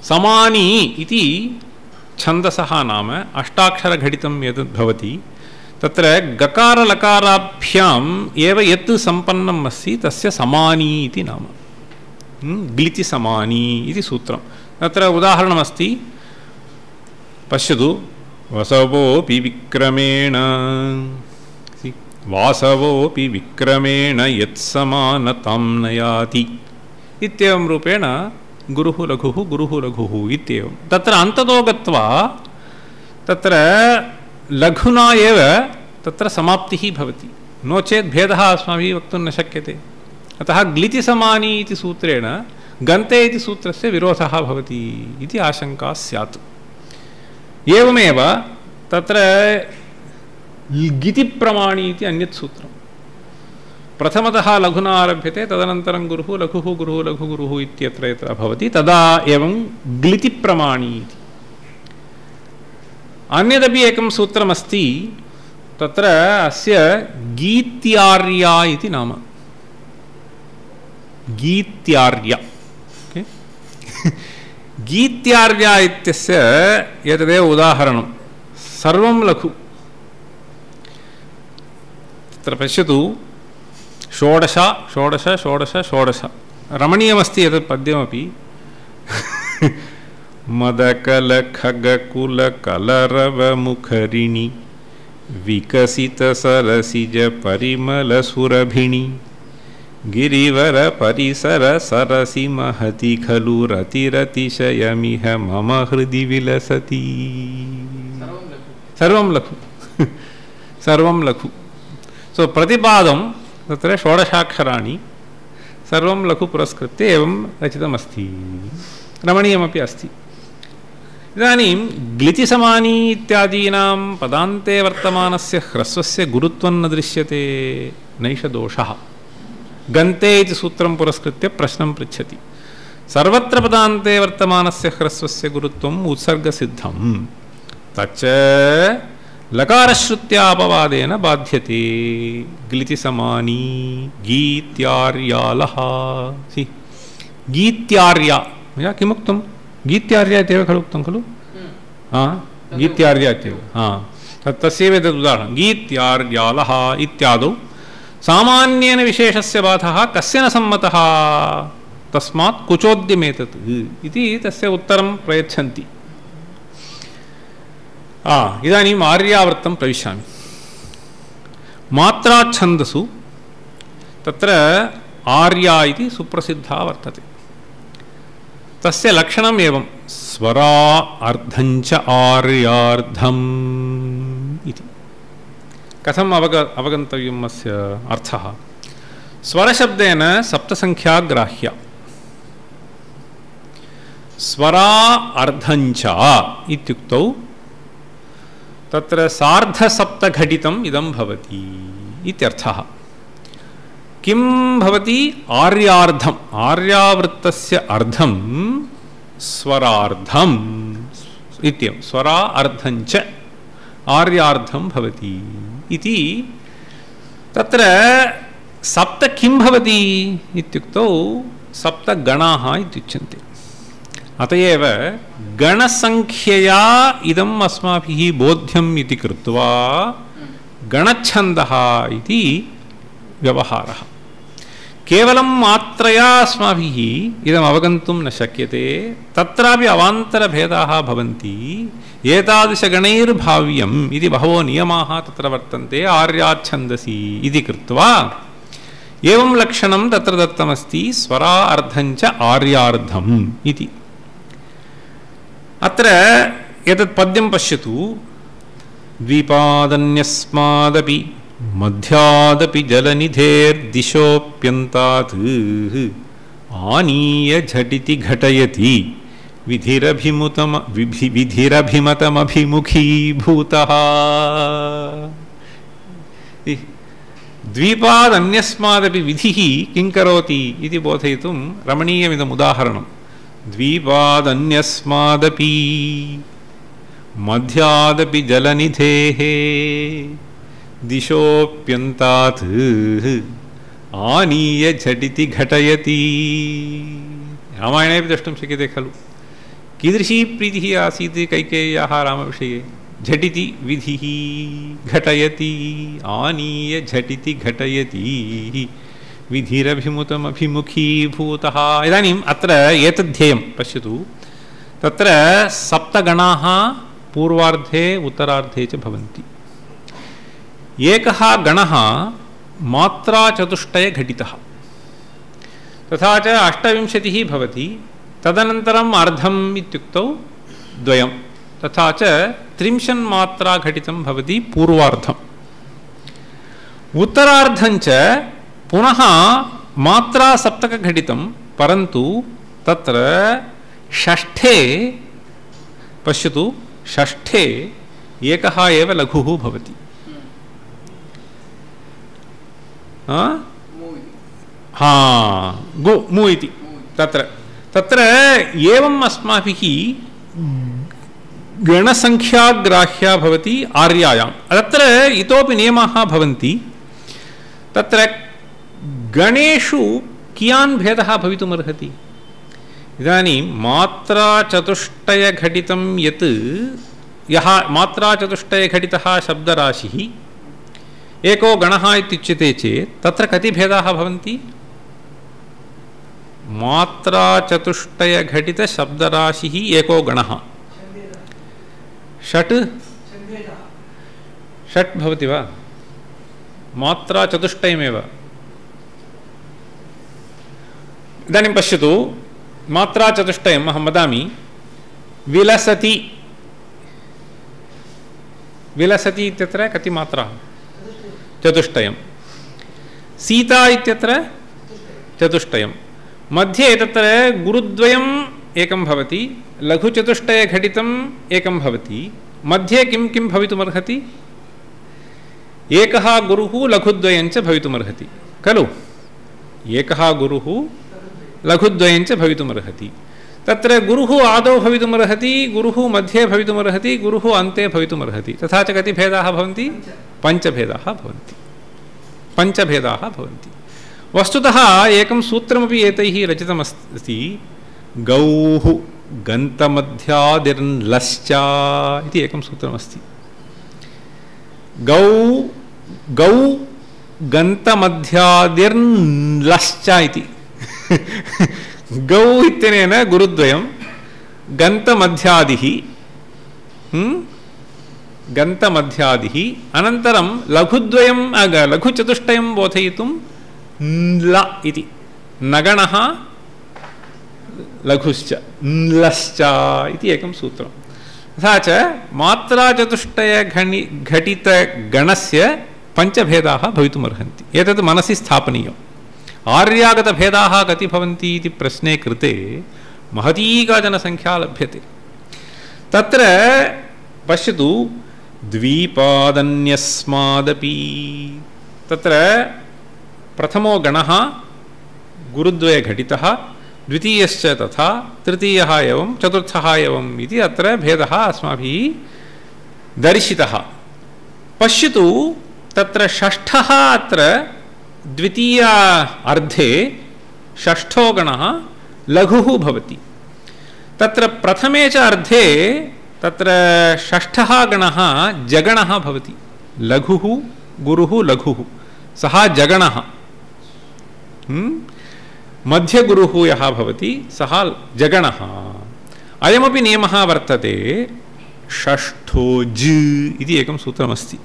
समानी इति छन्दसः नाम अष्टाक्षरघटितं यद् भवति तत्र गकारलकाराभ्याम् एव यत् सम्पन्नम् अस्ति तस्य समानी इति नाम ग्लिचि समानी इति सूत्रं तत्र उदाहरणमस्ति पश्यतु वसवोऽपि विक्रमेण वासवोऽपि विक्रमेण यत्समानतां नयाति इत्येवं रूपेण गुरुः लघुः इत्येवं तत्र अन्ततो गत्वा तत्र लघुना एव तत्र समाप्तिः भवति नो चेत् भेदः अस्माभिः वक्तुं न शक्यते अतः ग्लिचि समानी इति सूत्रेण गन्ते इति सूत्रस्य विरोधः भवति इति आशङ्का स्यात् एवमेव तत्र गितिप्रमाणी इति अन्यत् सूत्रं प्रथमतः लघुना आरभ्यते तदनन्तरं गुरुः लघुः इत्यत्र यत्र भवति तदा एवं ग्लितिप्रमाणी इति अन्यदपि एकं सूत्रमस्ति तत्र अस्य गीत्यार्या इति नाम गीत्यार्या गीत्यार्या इत्यस्य एतदेव उदाहरणं सर्वं लघु तत्र पश्यतु षोडश रमणीयमस्ति एतत् पद्यमपि मदकलखगकुलकलरवमुखरिणि विकसितसरसिजपरिमलसुरभिणि गिरिवरपरिसरसरसि महति खलु रतिरतिशयमिह मम हृदि विलसति सर्वं लघु सो प्रतिपादं तत्र षोडशाक्षराणि सर्वं लघु पुरस्कृत्य एवं रचितमस्ति रमणीयमपि अस्ति इदानीं ग्लिचिसमानी इत्यादीनां पदान्ते वर्तमानस्य ह्रस्वस्य गुरुत्वं न दृश्यते नैष दोषः गन्ते इति सूत्रं पुरस्कृत्य प्रश्नं पृच्छति सर्वत्र पदान्ते वर्तमानस्य ह्रस्वस्य गुरुत्वम् उत्सर्गसिद्धं तच्च लकारश्रुत्यापवादेन बाध्यते ग्लिचिसमानी गीत्यार्यालः गीत्यार्या मया किमुक्तं गीत्यार्या इत्येव खलु उक्तं खलु गीत्यार्या इत्येव तस्यैव एतद् उदाहरणं गीत्यार्यालः इत्यादौ सामान्येन विशेषस्य बाधः कस्य न सम्मतः तस्मात् कुचोद्यमेतत् इति तस्य उत्तरं प्रयच्छन्ति इदानीम् आर्यावर्तं प्रविशामि मात्राच्छन्दसु तत्र आर्या इति सुप्रसिद्धा वर्तते तस्य लक्षणम् एवं स्वरा अर्धञ्च आर्यार्धम् इति कथम् अवगन्तव्यम् अस्य अर्थः स्वरशब्देन सप्तसङ्ख्या ग्राह्या स्वरा अर्धञ्च इत्युक्तौ तत्र सार्धसप्तघटितम् इदं भवति इत्यर्थः किं भवति आर्यार्धम् आर्यावृत्तस्य अर्धं स्वरार्धम् इत्येवं स्वरा अर्धञ्च आर्यार्धं भवति इति तत्र सप्त किं भवति इत्युक्तौ सप्तगणाः इत्युच्यन्ते अत एव गणसङ्ख्यया इदम् अस्माभिः बोध्यम् इति कृत्वा गणच्छन्दः इति व्यवहारः केवलं मात्रया अस्माभिः इदम् अवगन्तुं न शक्यते तत्रापि अवान्तरभेदाः भवन्ति एतादृशगणैर्भाव्यम् इति बहवो नियमाः तत्र वर्तन्ते आर्याच्छन्दसि इति कृत्वा एवं लक्षणं तत्र दत्तमस्ति स्वरा अर्धञ्च आर्यार्धम् इति अत्र एतत् पद्यं पश्यतु द्विपादन्यस्मादपि मध्यादपि जलनिधेर्दिशोऽप्यन्तात् आनीय झटिति घटयति विधिरभिमतमभिमुखीभूतः द्वीपादन्यस्मादपि विधिः किं करोति इति बोधयितुं रमणीयमिदम् उदाहरणं द्वीपादन्यस्मादपि मध्यादपि जलनिधेः दिशोऽप्यन्तात् आनीय झटिति घटयति रामायणे द्रष्टुं शक्यते खलु कीदृशी प्रीतिः आसीत् कैकेय्याः रामविषये? झटिति विधिः घटयति आनीय झटिति घटयति विधिरभिमुखीभूतः। इदानीम् अत्र एतद्धेयं पश्यतु, तत्र सप्तगणाः पूर्वार्धे उत्तरार्धे च भवन्ति। एकः गणः मात्राचतुष्टयघटितः, तथा च 28 भवति, तदनन्तरम् अर्धम् इत्युक्तौ द्वयं, तथा च 30 मात्रा घटितं भवति पूर्वार्धम्। उत्तरार्धञ्च पुनः मात्रा सप्तकघटितं, परन्तु तत्र षष्ठे पश्यतु, षष्ठे एकः एव लघुः भवति। गु मु इति तत्र एवम् अस्माभिः गणसङ्ख्याग्राह्या भवति आर्यायां। तत्र इतोपि नियमाः भवन्ति। तत्र गणेषु कियान् भेदः भवितुमर्हति? इदानीं मात्राचतुष्टयघटितं यत् यः मात्राचतुष्टयघटितः शब्दराशिः एको गणः इत्युच्यते चेत् तत्र कति भेदाः भवन्ति? मात्राचतुष्टयघटितशब्दराशिः एको गणः षट् भवति वा? मात्राचतुष्टयमेव। इदानीं पश्यतु, मात्राचतुष्टयम् अहं वदामि। विलसति, विलसति इत्यत्र कति मात्राः? चतुष्टयं। सीता इत्यत्र चतुष्टयं। मध्ये तत्र गुरुद्वयम् एकं भवति, लघुचतुष्टयघटितम् एकं भवति। मध्ये किं किं भवितुमर्हति? एकः गुरुः लघुद्वयञ्च भवितुमर्हति खलु? एकः गुरुः लघुद्वयञ्च भवितुमर्हति। तत्र गुरुः आदौ भवितुमर्हति, गुरुः मध्ये भवितुमर्हति, गुरुः अन्ते भवितुमर्हति। तथा च कति भेदाः भवन्ति? पञ्चभेदाः भवन्ति। पञ्चभेदाः भवन्ति। वस्तुतः एकं सूत्रमपि एतैः रचितमस्ति। गौः गन्तमध्यादिर्लश्च इति एकं सूत्रमस्ति। गौ गन्तमध्यादिर्लश्च इति गौ इत्यनेन गुरुद्वयं, गन्तमध्यादिः गन्तमध्यादिः, अनन्तरं लघुद्वयं लघुचतुष्टयं बोधयितुं ल इति नगणः लघुश्च लश्च इति एकं सूत्रं। तथा च मात्राचतुष्टयघटितगणस्य पञ्चभेदाः भवितुमर्हन्ति। एतत् मनसि स्थापनीयम्। आर्यागतभेदाः कति भवन्ति इति प्रश्ने कृते महती काचन संख्या लभ्यते। तत्र पश्यतु, द्वीपादन्यस्मादपि, तत्र प्रथमो गणः गुरुद्वयघटितः, द्वितीयश्च तथा, तृतीयः एवं, चतुर्थः एवम् इति अत्र भेदः अस्माभिः दर्शितः। पश्यतु, तत्र षष्ठः अत्र द्वितीय अर्धे षष्ठो गणः लघुः भवति। तत्र प्रथमे च अर्धे तत्र षष्ठः गणः जगणः भवति। लघुः गुरुः लघुः, सः जगणः। मध्यगुरुः यः भवति सः जगणः। अयमपि नियमः वर्तते। षष्ठो ज इति एकं सूत्रमस्ति।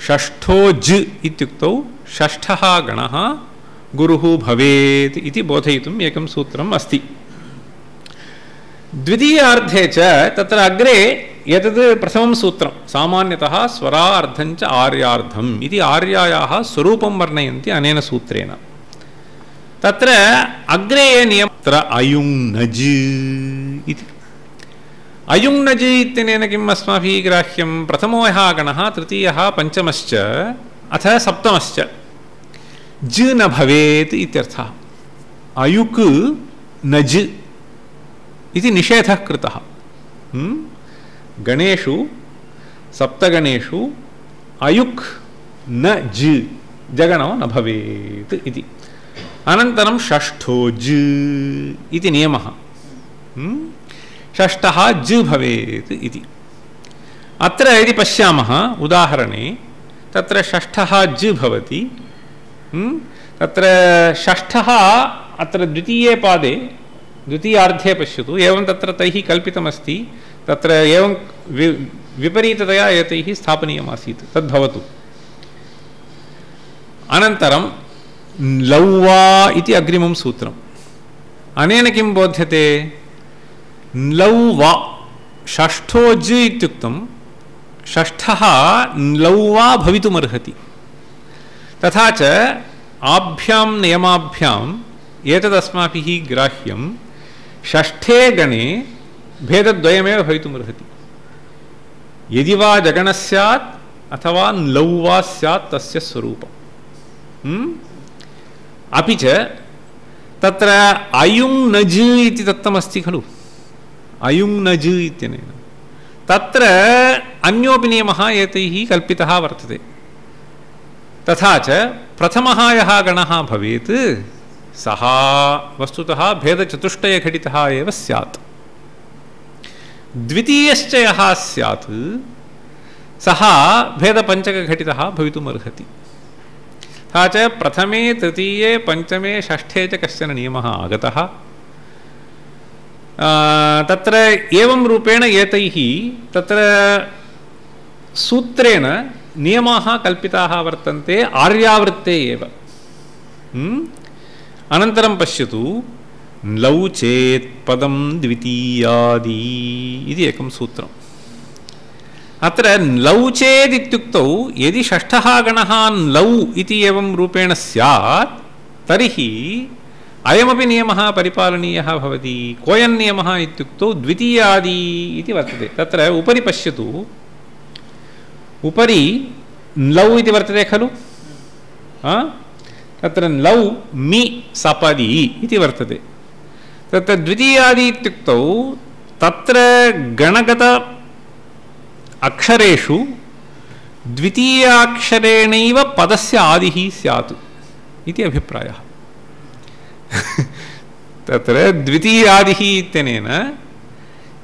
षष्ठो ज इत्युक्तौ षष्ठः गणः गुरुः भवेत् इति बोधयितुम् एकं सूत्रम् अस्ति। द्वितीयार्धे च तत्र अग्रे एतद् प्रथमं सूत्रं, सामान्यतः स्वरार्धञ्च आर्यार्धम् इति आर्यायाः स्वरूपं वर्णयन्ति अनेन सूत्रेण। तत्र अग्रे नियमः तत्र अयुङ्नज् इति। अयुङ्नज् इत्यनेन किम् अस्माभिः ग्राह्यं? प्रथमो यः गणः, तृतीयः, पञ्चमश्च अथ सप्तमश्च ज न भवेत् इत्यर्थः। अयुक् नज् इति निषेधः कृतः। गणेषु सप्तगणेषु अयुक् न ज, जगणो न भवेत् इति। अनन्तरं षष्ठो ज इति नियमः। षष्ठः ज भवेत् इति। अत्र यदि पश्यामः उदाहरणे तत्र षष्ठः ज भवति, तत्र षष्ठः अत्र द्वितीये पादे द्वितीयार्धे पश्यतु, एवं तत्र तैः कल्पितमस्ति, तत्र एवं विपरीततया एतैः स्थापनीयमासीत्, तद्भवतु। अनन्तरं लौवा इति अग्रिमं सूत्रम्। अनेन किं बोध्यते? लौवा षष्ठो ज इत्युक्तं षष्ठः लौवा भवितुमर्हति। तथा च आभ्यां नियमाभ्याम् एतदस्माभिः ग्राह्यं षष्ठे गणे भेदद्वयमेव भवितुमर्हति। यदि वा जगणः स्यात् अथवा लौवा स्यात् तस्य स्वरूपम्। अपि च तत्र अयुं नज इति दत्तमस्ति खलु, अयुं नज इत्यनेन तत्र अन्योपि नियमः एतैः कल्पितः वर्तते। तथा च प्रथमः यः गणः भवेत् सः वस्तुतः भेदचतुष्टयघटितः एव स्यात्। द्वितीयश्च यः स्यात् सः भेदपञ्चकघटितः भवितुमर्हति। तथा च प्रथमे तृतीये पञ्चमे षष्ठे च कश्चन नियमः आगतः। तत्र एवं रूपेण एतैः तत्र सूत्रेण नियमाः कल्पिताः वर्तन्ते आर्यावृत्ते एव। अनन्तरं पश्यतु, लौ चेत् पदं द्वितीयादि इति एकं सूत्रम्। अत्र लौ चेत् इत्युक्तौ यदि षष्ठः गणः लौ इति एवं रूपेण स्यात् तर्हि अयमपि नियमः परिपालनीयः भवति। कोऽयं नियमः इत्युक्तौ द्वितीयादि इति वर्तते। तत्र उपरि पश्यतु, उपरि लौ इति वर्तते खलु, तत्र लौ मि सपदि इति वर्तते। तत्र द्वितीयादि इत्युक्तौ तत्र गणगत अक्षरेषु द्वितीयाक्षरेणैव पदस्य आदिः स्यात् इति अभिप्रायः। तत्र द्वितीयादिः इत्यनेन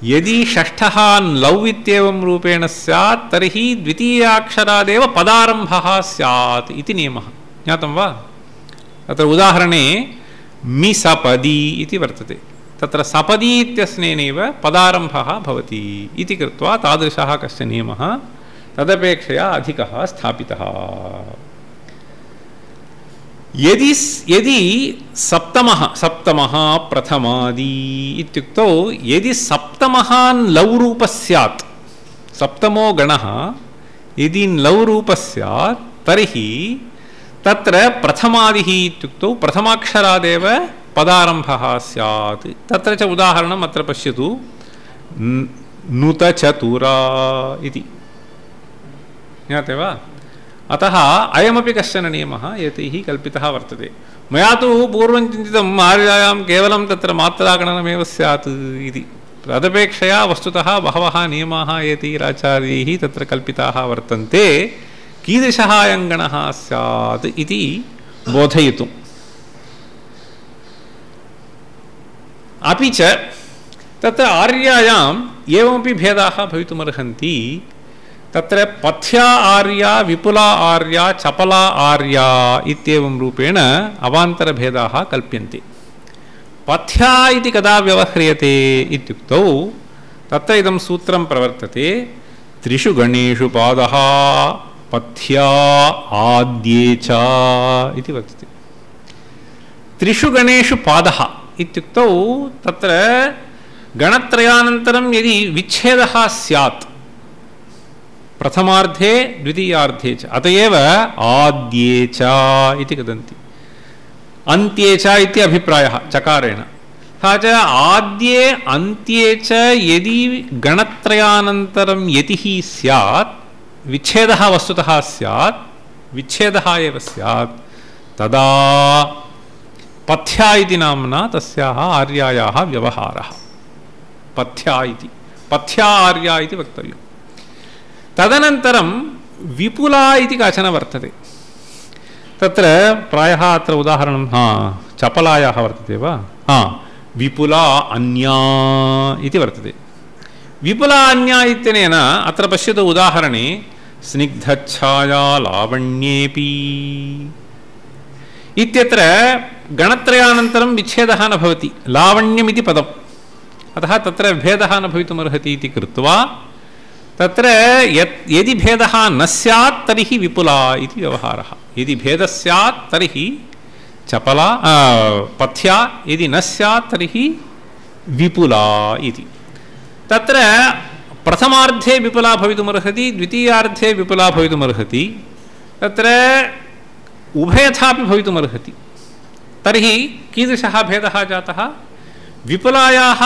यदि षष्ठः लौ इत्येवं रूपेण स्यात् तर्हि द्वितीयाक्षरादेव पदारम्भः स्यात् इति नियमः। ज्ञातं वा? तत्र उदाहरणे मि सपदि इति वर्तते। तत्र सपदि इत्यस्नेनैव पदारम्भः भवति इति कृत्वा तादृशः कश्चन नियमः तदपेक्षया अधिकः स्थापितः। यदि सप्तमः प्रथमादि इत्युक्तौ यदि सप्तमः लौ रूपः स्यात्, सप्तमो गणः यदि लौ रूपः स्यात् तर्हि तत्र प्रथमादिः इत्युक्तौ प्रथमाक्षरादेव पदारम्भः स्यात्। तत्र च उदाहरणम् अत्र पश्यतु, नुतचतुरा इति। ज्ञाते वा? अतः अयमपि कश्चन नियमः एतैः कल्पितः वर्तते। मया तु पूर्वं चिन्तितम् आर्यायां केवलं तत्र मात्रागणनमेव स्यात् इति। तदपेक्षया वस्तुतः बहवः नियमाः एतैराचार्यैः तत्र कल्पिताः वर्तन्ते, कीदृशः अयं गणः स्यात् इति बोधयितुम्। अपि च तत्र आर्यायाम् एवमपि भेदाः भवितुमर्हन्ति। तत्र पथ्या आर्या, विपुला आर्या, चपला आर्या इत्येवं रूपेण अवान्तरभेदाः कल्प्यन्ते। पथ्या इति कदा व्यवह्रियते इत्युक्तौ तत्र इदं सूत्रं प्रवर्तते, त्रिषु गणेषु पादः पथ्या आद्ये च इति वर्तते। त्रिषु गणेषु पादः इत्युक्तौ तत्र गणत्रयानन्तरं यदि विच्छेदः स्यात् प्रथमार्धे द्वितीयार्धे च, अत एव आद्ये च इति वदन्ति। अन्त्ये च इति अभिप्रायः चकारेण। तथा च आद्ये अन्त्ये च यदि गणत्रयानन्तरं यतिः स्यात्, विच्छेदः वस्तुतः स्यात्, विच्छेदः एव स्यात्, तदा पथ्या इति नाम्ना तस्याः आर्यायाः व्यवहारः पथ्या इति, पथ्या आर्या इति वक्तव्यम्। तदनन्तरं विपुला इति काचन वर्तते। तत्र प्रायः अत्र उदाहरणं चपलायाः वर्तते वा? विपुला अन्या इति वर्तते। विपुला अन्या इत्यनेन अत्र पश्यतु उदाहरणे स्निग्धच्छाया लावण्येपि इत्यत्र गणत्रयानन्तरं विच्छेदः न भवति, लावण्यमिति पदम्, अतः तत्र भेदः न भवितुमर्हति इति कृत्वा तत्र यदि भेदः न स्यात् तर्हि विपुला इति व्यवहारः। यदि भेदः स्यात् तर्हि चपला पथ्या, यदि न स्यात् तर्हि विपुला इति। तत्र प्रथमार्धे विपुला भवितुमर्हति, द्वितीयार्धे विपुला भवितुमर्हति, तत्र उभयथापि भवितुमर्हति। तर्हि कीदृशः भेदः जातः? विपुलायाः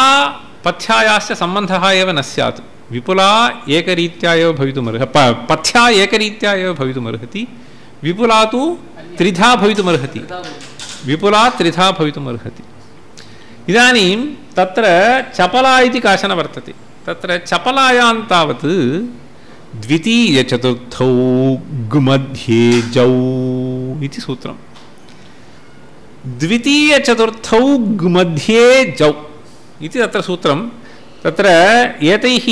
पथ्यायाश्च सम्बन्धः एव न स्यात्। विपुला एकरीत्या एव भवितुमर्हति, पथ्या एकरीत्या एव भवितुमर्हति, विपुला तु त्रिधा भवितुमर्हति, विपुला त्रिधा भवितुमर्हति। इदानीं तत्र चपला इति काचन वर्तते। तत्र चपलायां तावत् द्वितीयचतुर्थौ गुमध्ये जौ इति सूत्रम्। द्वितीयचतुर्थौ गुमध्ये जौ इति तत्र सूत्रं। तत्र एतैः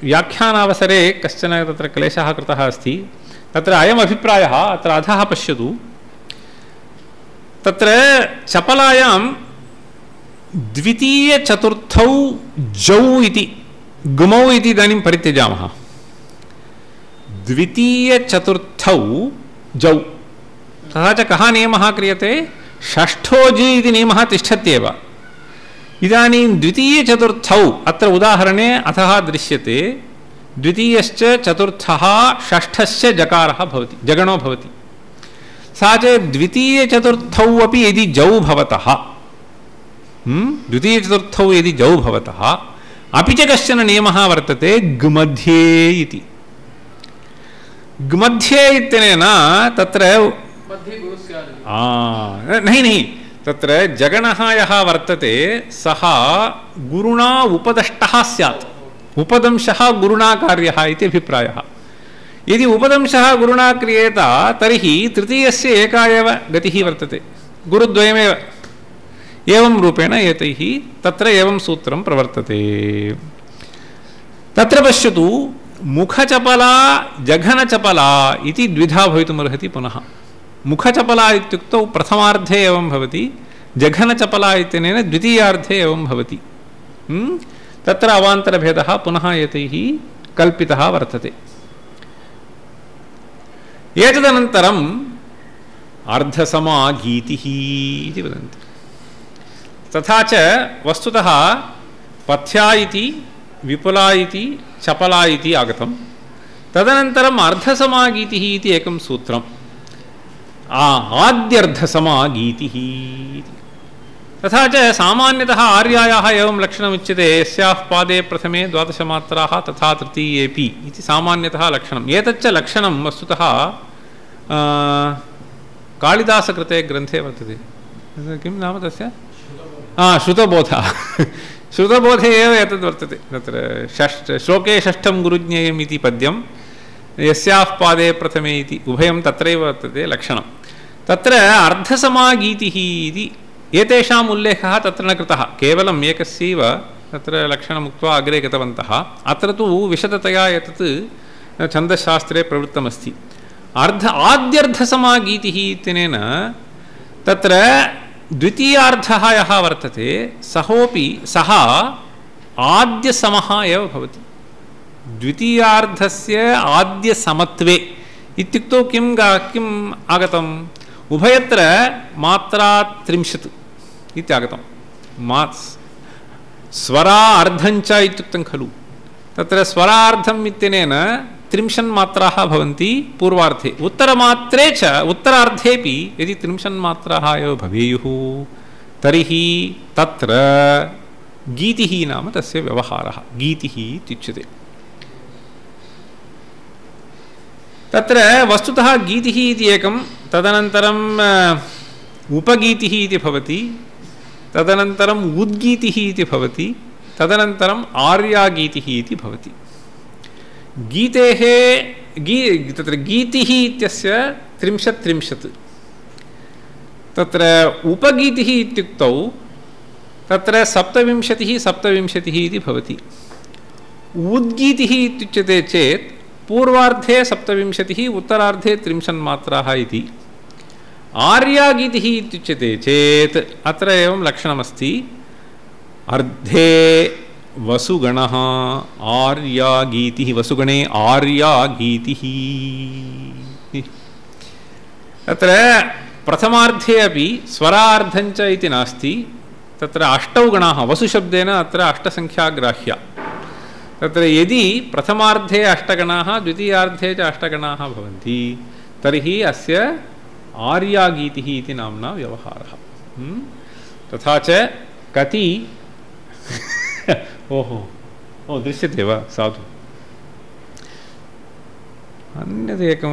व्याख्यानावसरे कश्चन तत्र क्लेशः कृतः अस्ति। तत्र अयम् अभिप्रायः अत्र अधः पश्यतु। तत्र चपलायां द्वितीयचतुर्थौ जौ इति गुमौ इति इदानीं परित्यजामः। द्वितीयचतुर्थौ जौ, तथा च कः नियमः क्रियते? षष्ठो जि इति नियमः तिष्ठत्येव। इदानीं द्वितीयचतुर्थौ अत्र उदाहरणे अथः दृश्यते, द्वितीयश्च चतुर्थः षष्ठश्च जकारः भवति, जगणो भवति। सा च द्वितीयचतुर्थौ अपि यदि जौ भवतः, द्वितीयचतुर्थौ यदि जौ भवतः, अपि च कश्चन नियमः वर्तते गुमध्ये इति। गुमध्ये इत्यनेन तत्र नहीं तत्र जगणः यः वर्तते सः गुरुणा उपदष्टः स्यात्, उपदंशः गुरुणा कार्यः इति अभिप्रायः। यदि उपदंशः गुरुणा क्रियेत तर्हि तृतीयस्य एका एव गतिः वर्तते, गुरुद्वयमेव। एवं रूपेण एतैः तत्र एवं सूत्रं प्रवर्तते। तत्र पश्यतु, मुखचपला जघनचपला इति द्विधा भवितुमर्हति पुनः। मुखचपला इत्युक्तौ प्रथमार्धे एवं भवति, जघनचपला इत्यनेन द्वितीयार्धे एवं भवति। तत्र अवान्तरभेदः पुनः एतैः कल्पितः वर्तते। एतदनन्तरम् अर्धसमागीतिः इति वदन्ति। तथा च वस्तुतः पथ्या इति, विपुला इति, चपला इति आगतं। तदनन्तरम् अर्धसमागीतिः इति एकं सूत्रम्। आद्यर्धसमागीतिः इति। तथा च सामान्यतः आर्यायाः एवं लक्षणमुच्यते, यस्याः पादे प्रथमे 12 मात्राः तथा तृतीयेपि इति सामान्यतः लक्षणम्। एतच्च लक्षणं वस्तुतः कालिदासकृते ग्रन्थे वर्तते। किं नाम तस्य? श्रुतबोधः। श्रुतबोधे एव एतद् वर्तते। तत्र श्लोके षष्ठं गुरुज्ञेयम् इति पद्यं, यस्याः पादे प्रथमे इति उभयं तत्रैव वर्तते लक्षणं। तत्र अर्धसमागीतिः इति एतेषाम् उल्लेखः तत्र न कृतः, केवलम् एकस्यैव तत्र लक्षणमुक्त्वा अग्रे गतवन्तः। अत्र तु विशदतया एतत् छन्दशास्त्रे प्रवृत्तमस्ति। आद्यर्धसमागीतिः इत्यनेन तत्र द्वितीयार्धः यः वर्तते सः आद्यसमः एव भवति। द्वितीयार्धस्य आद्यसमत्वे इत्युक्तौ किम् आगतम्? उभयत्र मात्रा 30 इत्यागतम्। स्वरा अर्धञ्च इत्युक्तं खलु। तत्र स्वरार्धम् इत्यनेन 30 मात्राः भवन्ति पूर्वार्धे, उत्तरमात्रे च उत्तरार्धेपि यदि 30 मात्राः एव भवेयुः तर्हि तत्र गीतिः नाम तस्य व्यवहारः, गीतिः इत्युच्यते। तत्र वस्तुतः गीतिः इति एकं, तदनन्तरम् उपगीतिः इति भवति, तदनन्तरम् उद्गीतिः इति भवति, तदनन्तरम् आर्यागीतिः इति भवति। गीतेः तत्र गीतिः इत्यस्य 30। तत्र उपगीतिः इत्युक्तौ तत्र 27 27 इति भवति। उद्गीतिः इत्युच्यते चेत् पूर्वार्धे 27 उत्तरार्धे 30 मात्राः इति। आर्यागीतिः इत्युच्यते चेत् अत्र एवं लक्षणमस्ति, अर्धे वसुगणः आर्यागीतिः, वसुगणे आर्यागीतिः। तत्र प्रथमार्धे अपि स्वरार्धञ्च इति नास्ति, तत्र 8 गणाः, वसुशब्देन अत्र 8 संख्या ग्राह्या। तत्र यदि प्रथमार्धे 8 गणाः द्वितीयार्धे च 8 गणाः भवन्ति तर्हि अस्य आर्यागीतिः इति नाम्ना व्यवहारः। तथा च कति ओहो ओ दृश्यते वा? साधु। अन्यदेकं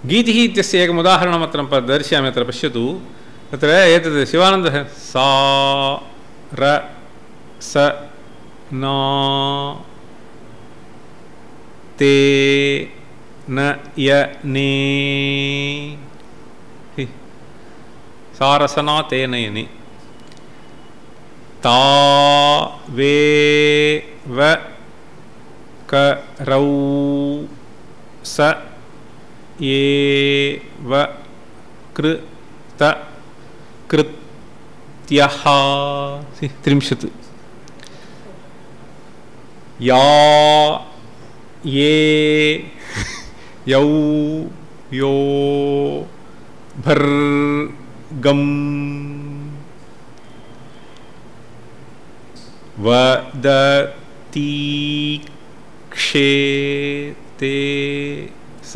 गीतिः इत्यस्य एकम् उदाहरणम् अत्र दर्शयामि, अत्र पश्यतु। तत्र एतद् शिवानन्दः सा र स ना ते न य ने सारसना ते नयने ता वे व क रौ स ये व कृ त कृत्यः 30 या ये यौ यो भर्गम वदति क्षेते स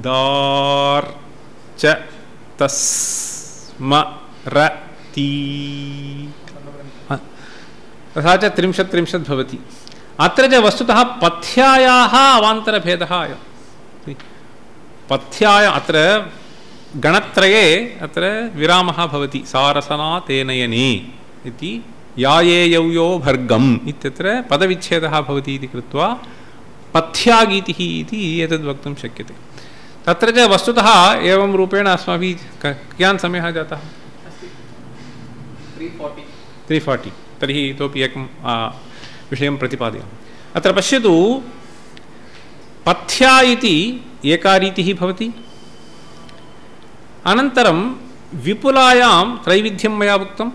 दार्च तस्मरति। तथा च 30 भवति। अत्र च वस्तुतः पथ्यायाः अवान्तरभेदः अयं। पथ्याय अत्र गणत्रये अत्र विरामः भवति, सारसना तेनयने इति, याये यौ यो भर्गम् इत्यत्र पदविच्छेदः भवति इति कृत्वा पथ्यागीतिः इति एतद् वक्तुं शक्यते। तत्र च वस्तुतः एवं रूपेण अस्माभिः कियान् समयः जातः? 340। तर्हि इतोपि एकं विषयं प्रतिपादयामि। अत्र पश्यतु, पथ्या इति एका रीतिः भवति। अनन्तरं विपुलायां त्रैविध्यं मया उक्तं।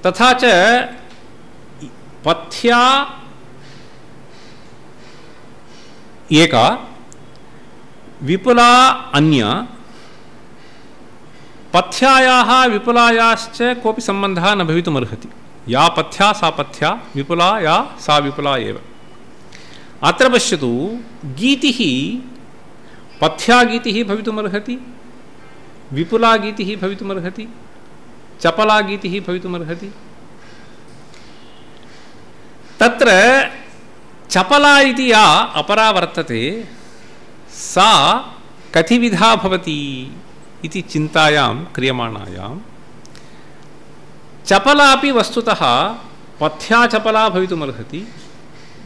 तथा च पथ्या एका, विपुला अन्या। पथ्यायाः विपुलायाश्च कोऽपि सम्बन्धः न भवितुमर्हति। या पथ्या सा पथ्या, विपुला या सा विपुला एव। अत्र पश्यतु, गीतिः पथ्यागीतिः भवितुमर्हति, विपुलागीतिः भवितुमर्हति, चपलागीतिः भवितुमर्हति। तत्र चपला इति या अपरा वर्तते सा कतिविधा भवति इति चिन्तायां क्रियमाणायां चपलापि वस्तुतः पथ्या चपला भवितुमर्हति,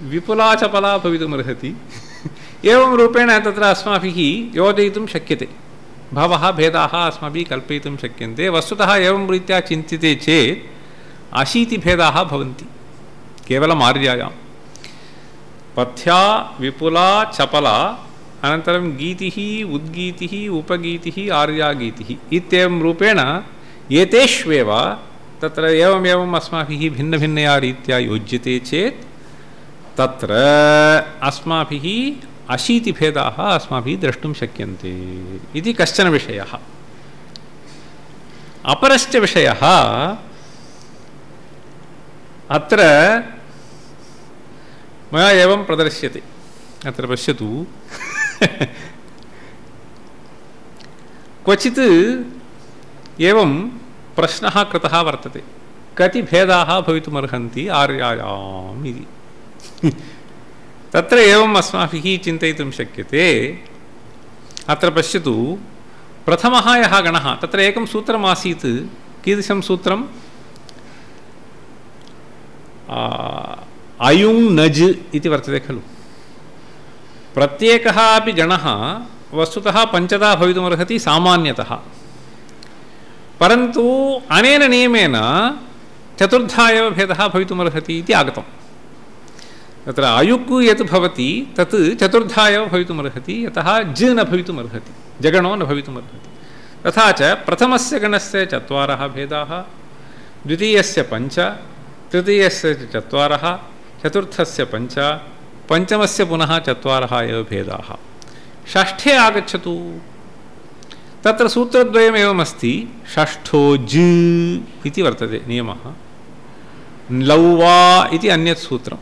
विपुला चपला भवितुमर्हति। एवं रूपेण तत्र अस्माभिः योजयितुं शक्यते। बहवः भेदाः अस्माभिः कल्पयितुं शक्यन्ते। वस्तुतः एवं रीत्या चिन्त्यते चेत् 80 भेदाः भवन्ति केवलम् आर्यायां। पथ्या, विपुला, चपला, अनन्तरं गीतिः, उद्गीतिः, उपगीतिः, आर्यागीतिः इत्येवं रूपेण एतेष्वेव तत्र एवमेवम् अस्माभिः भिन्नभिन्नया रीत्या योज्यते चेत् तत्र अस्माभिः 80 भेदाः अस्माभिः द्रष्टुं शक्यन्ते इति कश्चन विषयः। अपरश्च विषयः अत्र मया एवं प्रदर्श्यते। अत्र पश्यतु, क्वचित् एवं प्रश्नः कृतः वर्तते, कति भेदाः भवितुमर्हन्ति आर्यायाम् इति। तत्र एवम् अस्माभिः चिन्तयितुं शक्यते। अत्र पश्यतु, प्रथमः यः गणः, तत्र एकं सूत्रमासीत्। कीदृशं सूत्रम्? अयुङ् नज् इति वर्तते खलु। प्रत्येकः अपि गणः वस्तुतः पञ्चधा भवितुमर्हति सामान्यतः, परन्तु अनेन नियमेन चतुर्धा एव भेदः भवितुमर्हति इति आगतं। तत्र अयुक् यत् भवति तत् चतुर्धा एव भवितुमर्हति, यतः ज न भवितुमर्हति, जगणो न भवितुमर्हति। तथा च प्रथमस्य गणस्य चत्वारः भेदाः, द्वितीयस्य पञ्च, तृतीयस्य चत्वारः, चतुर्थस्य पञ्च, पञ्चमस्य पुनः चत्वारः एव भेदाः। षष्ठे आगच्छतु, तत्र सूत्रद्वयमेवमस्ति, षष्ठो ज इति वर्तते नियमः, लौवा इति अन्यत् सूत्रं।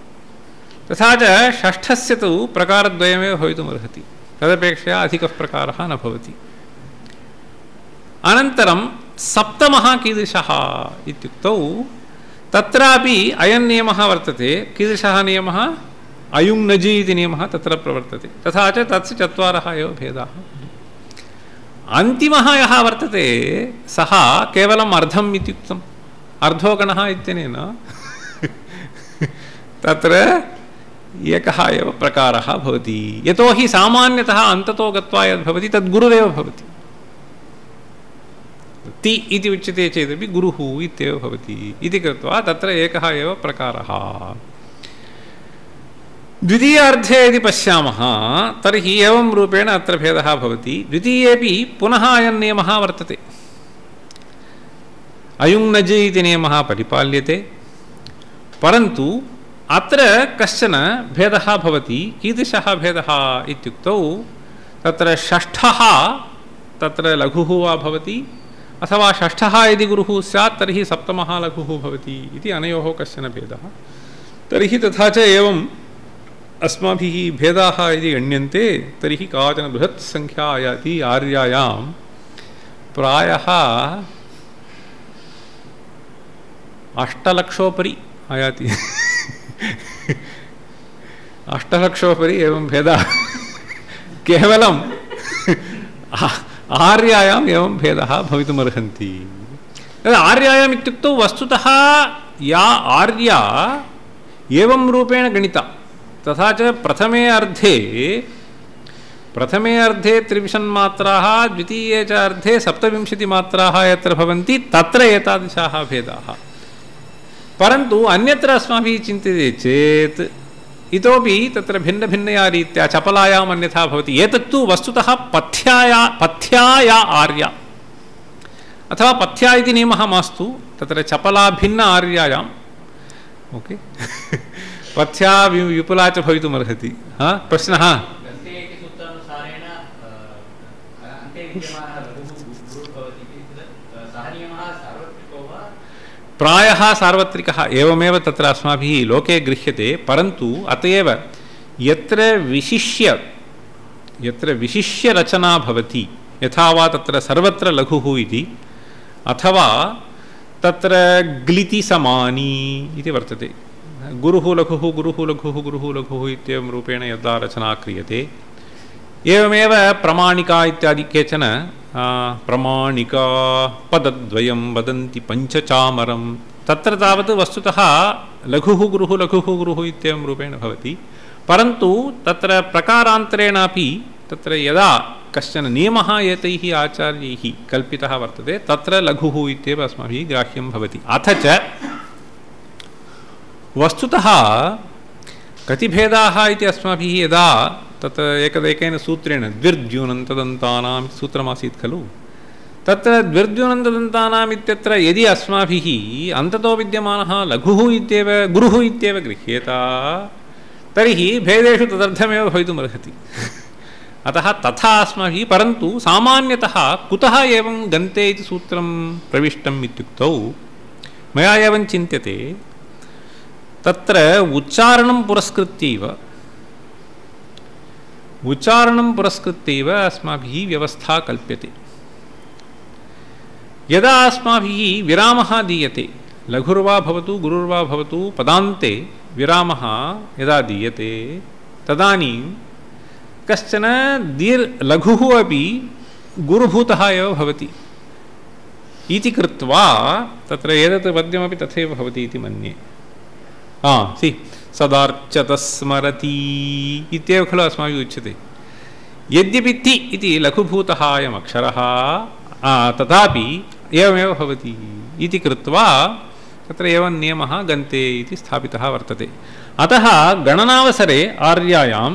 तथा च षष्ठस्य तु प्रकारद्वयमेव भवितुमर्हति, तदपेक्षया अधिकः प्रकारः न भवति। अनन्तरं सप्तमः कीदृशः इत्युक्तौ तत्रापि अयं नियमः वर्तते। कीदृशः नियमः? अयुङ्नजि इति नियमः तत्र प्रवर्तते। तथा च तस्य चत्वारः एव भेदाः। अन्तिमः यः वर्तते सः केवलम् अर्धम् इत्युक्तम्, अर्धोगणः इत्यनेन तत्र एकः एव प्रकारः भवति। यतोहि सामान्यतः अन्ततो गत्वा यद्भवति तद्गुरुरेव भवति। ति इति उच्यते चेदपि गुरुः इत्येव भवति इति कृत्वा तत्र एकः एव प्रकारः। द्वितीयार्धे यदि पश्यामः तर्हि एवं रूपेण अत्र भेदः भवति। द्वितीयेपि पुनः अयं नियमः वर्तते, अयुङ्नज इति नियमः परिपाल्यते, परन्तु अत्र कश्चन भेदः भवति। कीदृशः भेदः इत्युक्तौ तत्र षष्ठः तत्र लघुः वा भवति, अथवा षष्ठः यदि गुरुः स्यात् तर्हि सप्तमः लघुः भवति इति अनयोः कश्चन भेदः। तर्हि तथा च एवम् अस्माभिः भेदाः यदि गण्यन्ते तर्हि काचन बृहत् संख्या आयाति। आर्यायां प्रायः 8,00,000 आयाति। 8,00,000 एवं भेदाः केवलम् आर्यायाम् एवं भेदः भवितुमर्हन्ति। आर्यायाम् इत्युक्तौ वस्तुतः या आर्या एवं रूपेण गणिता, तथा च प्रथमे अर्धे 23 मात्राः, द्वितीये च अर्धे 27 मात्राः यत्र भवन्ति तत्र एतादृशाः भेदाः। परन्तु अन्यत्र अस्माभिः चिन्त्यते चेत् इतोपि तत्र भिन्नभिन्नया रीत्या चपलायाम् अन्यथा भवति। एतत्तु वस्तुतः पथ्याया आर्या अथवा पथ्या इति नियमः मास्तु, तत्र चपला भिन्न आर्यायाम् ओके पथ्या विपुला च भवितुमर्हति। प्रश्नः? प्रायः सार्वत्रिकः एवमेव तत्र अस्माभिः लोके गृह्यते, परन्तु अत एव यत्र विशिष्य रचना भवति, यथा वा तत्र सर्वत्र लघुः इति, अथवा तत्र ग्लिति समानी इति वर्तते। गुरुः लघुः गुरुः लघुः गुरुः लघुः इत्येवं रूपेण यदा रचना क्रियते, एवमेव प्रमाणिका इत्यादि केचन प्रमाणिका पदद्वयं वदन्ति पञ्चचामरं, तत्र तावत् वस्तुतः लघुः गुरुः लघुः गुरुः इत्येवं रूपेण भवति। परन्तु तत्र प्रकारान्तरेणापि तत्र यदा कश्चन नियमः एतैः आचार्यैः कल्पितः वर्तते तत्र लघुः इत्येव अस्माभिः ग्राह्यं भवति। अथ च वस्तुतः कति भेदाः इति अस्माभिः यदा तत्र एकैकेन सूत्रेण द्विर्द्यूनन्तदन्तानां सूत्रमासीत् खलु, तत्र द्विर्द्यूनन्तदन्तानाम् इत्यत्र यदि अस्माभिः अन्ततो विद्यमानः लघुः इत्येव गुरुः इत्येव गृह्येत तर्हि भेदेषु तदर्थमेव भवितुमर्हति। अतः तथा अस्माभिः, परन्तु सामान्यतः कुतः एवं गन्ते इति सूत्रं प्रविष्टम् इत्युक्तौ मया एवं चिन्त्यते, तत्र उच्चारणं पुरस्कृत्यैव अस्माभिः व्यवस्था कल्प्यते। यदा अस्माभिः विरामः दीयते, लघुर्वा भवतु गुरुर्वा भवतु, पदान्ते विरामः यदा दीयते तदानीं कश्चन लघुः अपि गुरुभूतः एव भवति इति कृत्वा तत्र एतत् पद्यमपि तथैव भवति इति मन्ये। सदार्चत स्मरति इत्येव खलु अस्माभिः उच्यते। यद्यपि ति इति लघुभूतः अयम् अक्षरः तथापि एवमेव भवति इति कृत्वा तत्र एवं नियमः गन्ते इति स्थापितः वर्तते। अतः गणनावसरे आर्यायां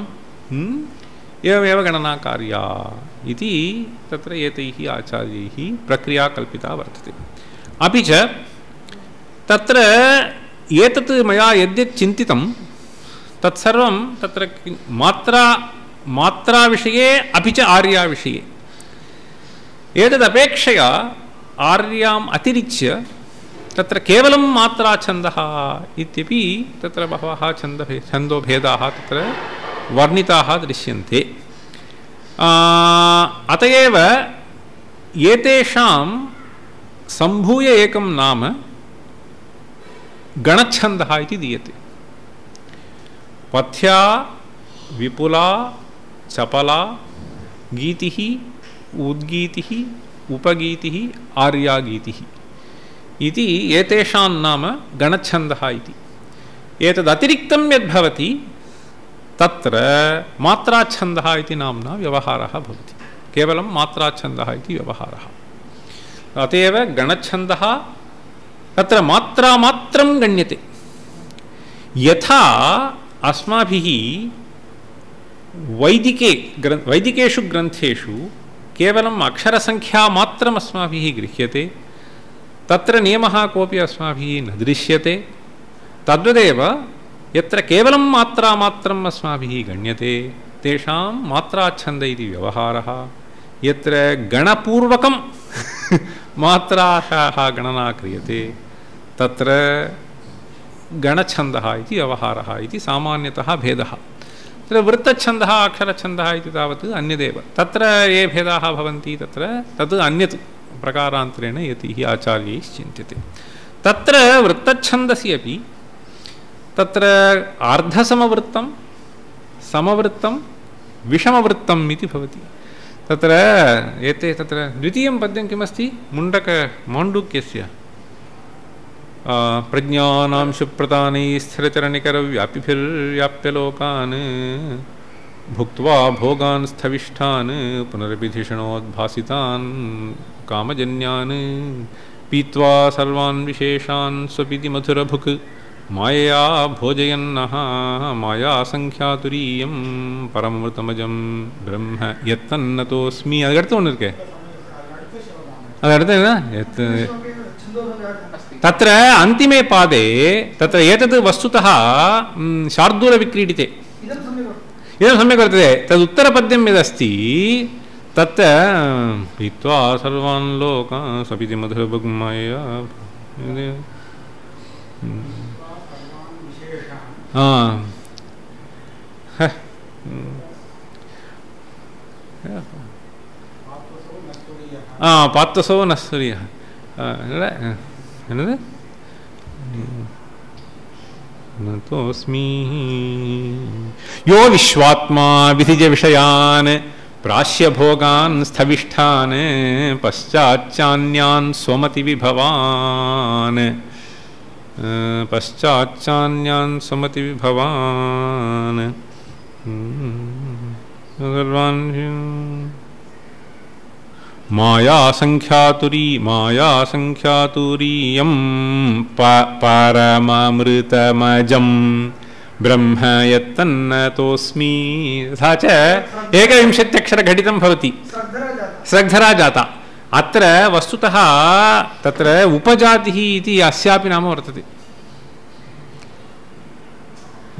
एवमेव गणना कार्या इति तत्र एतैः आचार्यैः प्रक्रिया कल्पिता वर्तते। अपि च तत्र एतत् मया यद्यत् चिन्तितं तत्सर्वं तत्र मात्राविषये अपि च आर्याविषये एतदपेक्षया आर्याम् अतिरिच्य तत्र केवलं मात्राछन्दः इत्यपि तत्र बहवः छन्दोभेदाः तत्र वर्णिताः दृश्यन्ते। अत एव एतेषां सम्भूय एकं नाम गणच्छन्दः इति दीयते। पथ्या विपुला चपला गीतिः उद्गीतिः उपगीतिः आर्यागीतिः इति एतेषां नाम गणच्छन्दः इति। एतदतिरिक्तं यद्भवति तत्र मात्राच्छन्दः इति नाम्ना व्यवहारः भवति। केवलं मात्राच्छन्दः इति व्यवहारः। अत एव गणच्छन्दः तत्र मात्रामात्रं गण्यते। यथा अस्माभिः वैदिकेषु ग्रन्थेषु केवलम् अक्षरसङ्ख्यामात्रम् अस्माभिः गृह्यते, तत्र नियमः कोऽपि अस्माभिः न दृश्यते। तद्वदेव यत्र केवलं मात्रामात्रम् अस्माभिः गण्यते तेषां मात्राच्छन्द इति व्यवहारः। यत्र गणपूर्वकं मात्राः गणना क्रियते तत्र गणच्छन्दः इति व्यवहारः इति सामान्यतः भेदः। तत्र वृत्तच्छन्दः अक्षरच्छन्दः इति तावत् अन्यदेव। तत्र ये भेदाः भवन्ति तत्र तत् अन्यत् प्रकारान्तरेण यतिः आचार्यैः चिन्त्यते। तत्र वृत्तच्छन्दसि अपि तत्र अर्धसमवृत्तं समवृत्तं विषमवृत्तम् इति भवति। तत्र एते तत्र द्वितीयं पद्यं किमस्ति माण्डूक्यस्य प्रज्ञानां शुप्रतानै स्थिरचरणिकरव्यापिभिर्व्याप्य भुक्त्वा भोगान् स्थविष्ठान् पुनरभिधिषणोद्भासितान् कामजन्यान् पीत्वा सर्वान् विशेषान् स्वपिति मधुरभुक् मायया भोजयन्नः माया संख्यातुरीयं परमृतमजं ब्रह्म यत्तन्नतोऽस्मि अदर्थ ஒன்னு இருக்கே अदर्थ तत्र अन्तिमे पादे तत्र एतद् वस्तुतः शार्दूलविक्रीडिते इदं सम्यक् वर्तते। तदुत्तरपद्यं यदस्ति तत् पीत्वा सर्वान् लोकान् स्वपिति मधुरभुग्माया पात्वसो नस्तुर्यः என்னது नतोऽस्मि यो विश्वात्मा विधिज विषयान् प्राश्यभोगान् स्थविष्ठान् पश्चाच्चान्यान् स्वमतिविभवान् पश्चाच्चान्यान् स्वमतिविभवान् सर्वान् माया संख्यातुरीयं परमामृतमजं ब्रह्म यत्तन्नतोऽस्मि। तथा च एकविंशत्यक्षरघटितं भवति स्रग्धरा जाता। अत्र वस्तुतः तत्र उपजातिः इति अस्यापि नाम वर्तते।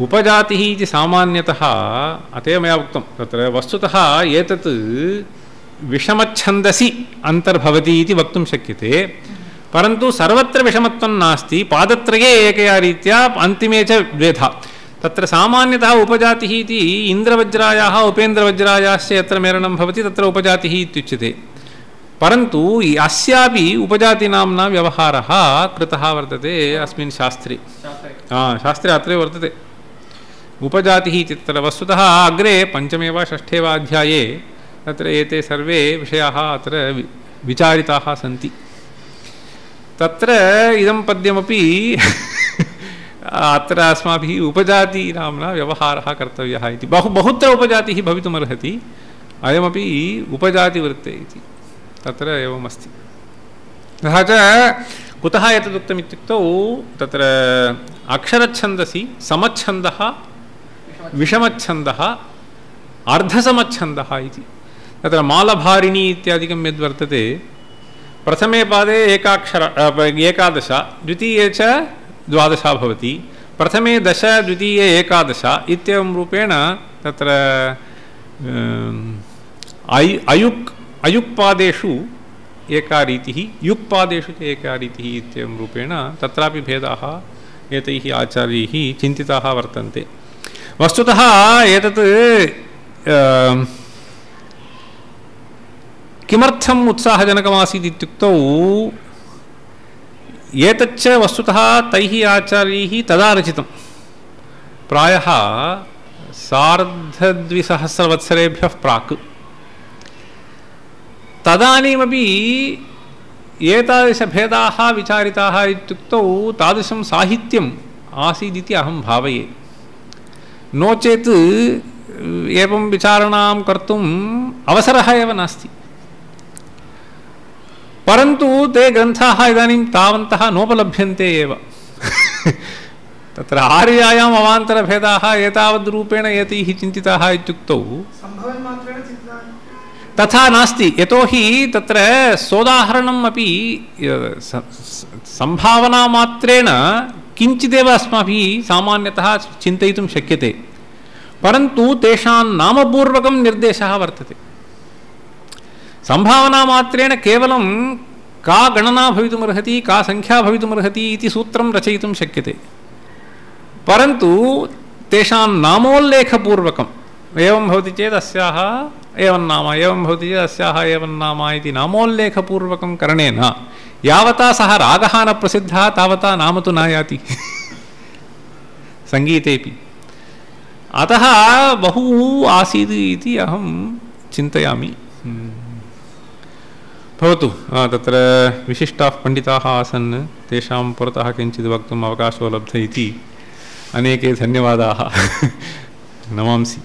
उपजातिः इति सामान्यतः अतएव मया उक्तं तत्र वस्तुतः एतत् विषमच्छन्दसि अन्तर्भवति इति वक्तुं शक्यते। परन्तु सर्वत्र विषमत्वं नास्ति। पादत्रये एकया रीत्या अन्तिमे च द्वेधा। तत्र सामान्यतः उपजातिः इति इन्द्रवज्रायाः उपेन्द्रवज्रायाश्च यत्र मेलनं भवति तत्र उपजातिः इत्युच्यते। परन्तु अस्यापि उपजातिनाम्ना व्यवहारः कृतः वर्तते अस्मिन् शास्त्रे। शास्त्रे अत्रैव वर्तते उपजातिः इति। तत्र वस्तुतः अग्रे पञ्चमे वा षष्ठे वा अध्याये तत्र एते सर्वे विषयाः अत्र विचारिताः सन्ति। तत्र इदं पद्यमपि अत्र अस्माभिः उपजातिनाम्ना व्यवहारः कर्तव्यः इति बहुत्र उपजातिः भवितुमर्हति। अयमपि उपजातिवृत्ते इति तत्र एवमस्ति। तथा च कुतः एतदुक्तम् इत्युक्तौ तत्र अक्षरच्छन्दसि समच्छन्दः विषमच्छन्दः अर्धसमच्छन्दः इति तत्र मालभारिणी इत्यादिकं यद्वर्तते प्रथमे पादे एकादश द्वितीये च 12 भवति प्रथमे 10 द्वितीये 11 इत्येवं रूपेण तत्र अयुक्पादेषु एका रीतिः युक्पादेषु च एका रीतिः इत्येवं रूपेण तत्रापि भेदाः एतैः आचार्यैः चिन्तिताः वर्तन्ते। वस्तुतः एतत् किमर्थम् उत्साहजनकमासीत् इत्युक्तौ एतच्च वस्तुतः तैः आचार्यैः तदा रचितं प्रायः 2500 प्राक्। तदानीमपि एतादृशभेदाः विचारिताः इत्युक्तौ तादृशं साहित्यम् आसीदिति अहं भावये। नो चेत् एवं विचारणां कर्तुम् अवसरः एव नास्ति। परन्तु ते ग्रन्थाः इदानीं तावन्तः नोपलभ्यन्ते एव। तत्र आर्यायाम् अवान्तरभेदाः एतावद्रूपेण एतैः चिन्तिताः इत्युक्तौ तथा नास्ति। यतोहि तत्र सोदाहरणम् अपि सम्भावनामात्रेण किञ्चिदेव अस्माभिः सामान्यतः चिन्तयितुं शक्यते, परन्तु तेषां नामपूर्वकं निर्देशः वर्तते। सम्भावनामात्रेण केवलं का गणना भवितुमर्हति का संख्या भवितुमर्हति इति सूत्रं रचयितुं शक्यते, परन्तु तेषां नामोल्लेखपूर्वकम् एवं भवति चेत् अस्याः एवं नाम एवं भवति चेत् अस्याः एवं नाम इति नामोल्लेखपूर्वकं करणेन यावता सः रागः न प्रसिद्धः तावता नाम तु न याति सङ्गीतेपि। अतः बहु आसीत् इति अहं चिन्तयामि। भवतु तत्र विशिष्टाः पण्डिताः आसन्, तेषां पुरतः किञ्चित् वक्तुम् अवकाशो लब्ध इति अनेके धन्यवादाः नमांसि।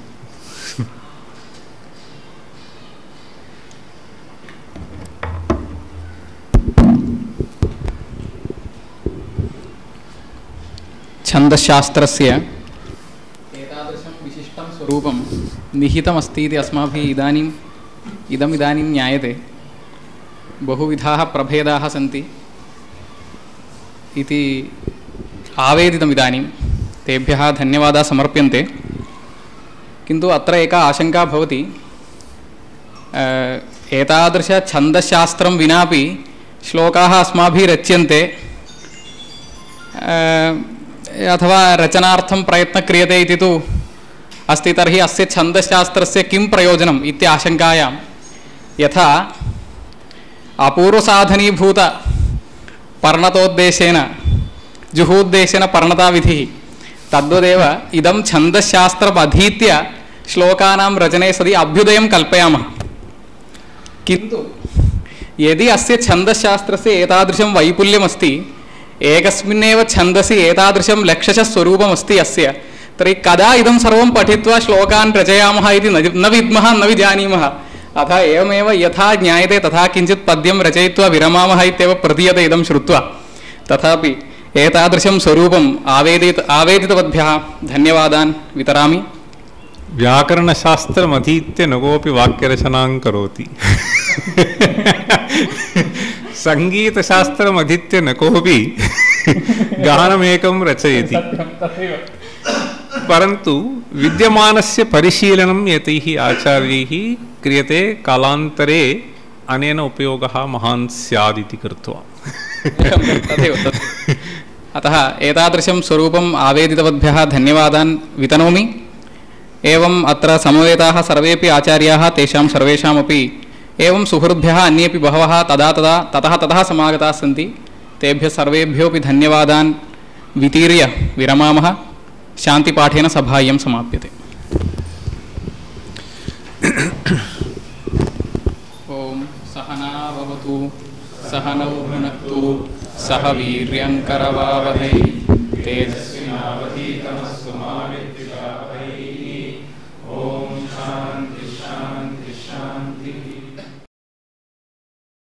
छन्दशास्त्रस्य एतादृशं विशिष्टं स्वरूपं निहितमस्ति इति अस्माभिः इदानीं ज्ञायते। बहुविधाः प्रभेदाः सन्ति इति आवेदितम् इदानीं, तेभ्यः धन्यवादाः समर्प्यन्ते। किन्तु अत्र एका आशङ्का भवति, एतादृशछन्दशास्त्रं विनापि श्लोकाः अस्माभिः रच्यन्ते अथवा रचनार्थं प्रयत्नः क्रियते इति तु अस्ति। तर्हि अस्य छन्दशास्त्रस्य किं प्रयोजनम् इति आशङ्कायां, यथा अपूर्वसाधनीभूत पर्णतोद्देशेन जुहूद्देशेन पर्णताविधिः, तद्वदेव इदं छन्दशास्त्रम् अधीत्य श्लोकानां रचने सति अभ्युदयं कल्पयामः। किन्तु यदि अस्य छन्दशास्त्रस्य एतादृशं वैपुल्यमस्ति, एकस्मिन्नेव छन्दसि एतादृशं लक्षशः स्वरूपमस्ति अस्य, तर्हि कदा इदं सर्वं पठित्वा श्लोकान् रचयामः इति न विद्मः न विजानीमः। अतः एवमेव यथा ज्ञायते तथा किञ्चित् पद्यं रचयित्वा विरमामः इत्येव प्रतीयते इदं श्रुत्वा। तथापि एतादृशं स्वरूपम् आवेदितवद्भ्यः धन्यवादान् वितरामि। व्याकरणशास्त्रमधीत्य न कोऽपि वाक्यरचनां करोति सङ्गीतशास्त्रमधीत्य न कोऽपि गानमेकं रचयति, परन्तु विद्यमानस्य परिशीलनम् एतैः आचार्यैः क्रियते। कालान्तरे अनेन उपयोगः महान् स्यादिति कृत्वा अतः एतादृशं स्वरूपम् आवेदितवद्भ्यः धन्यवादान् वितनोमि। एवम् अत्र समवेताः सर्वेपि आचार्याः, तेषां सर्वेषामपि एवं सुहृद्भ्यः अन्येपि बहवः ततः समागताः सन्ति। तेभ्यः सर्वेभ्योऽपि धन्यवादान् वितीर्य विरमामः। शान्तिपाठेन सभायं समाप्यते। ओम सहना भवतु सहनौ भुनक्तु सह वीर्यङ्करवावहै तेजस्विनावधीतमस्तु मा विद्विषावहै। ओम शान्ति।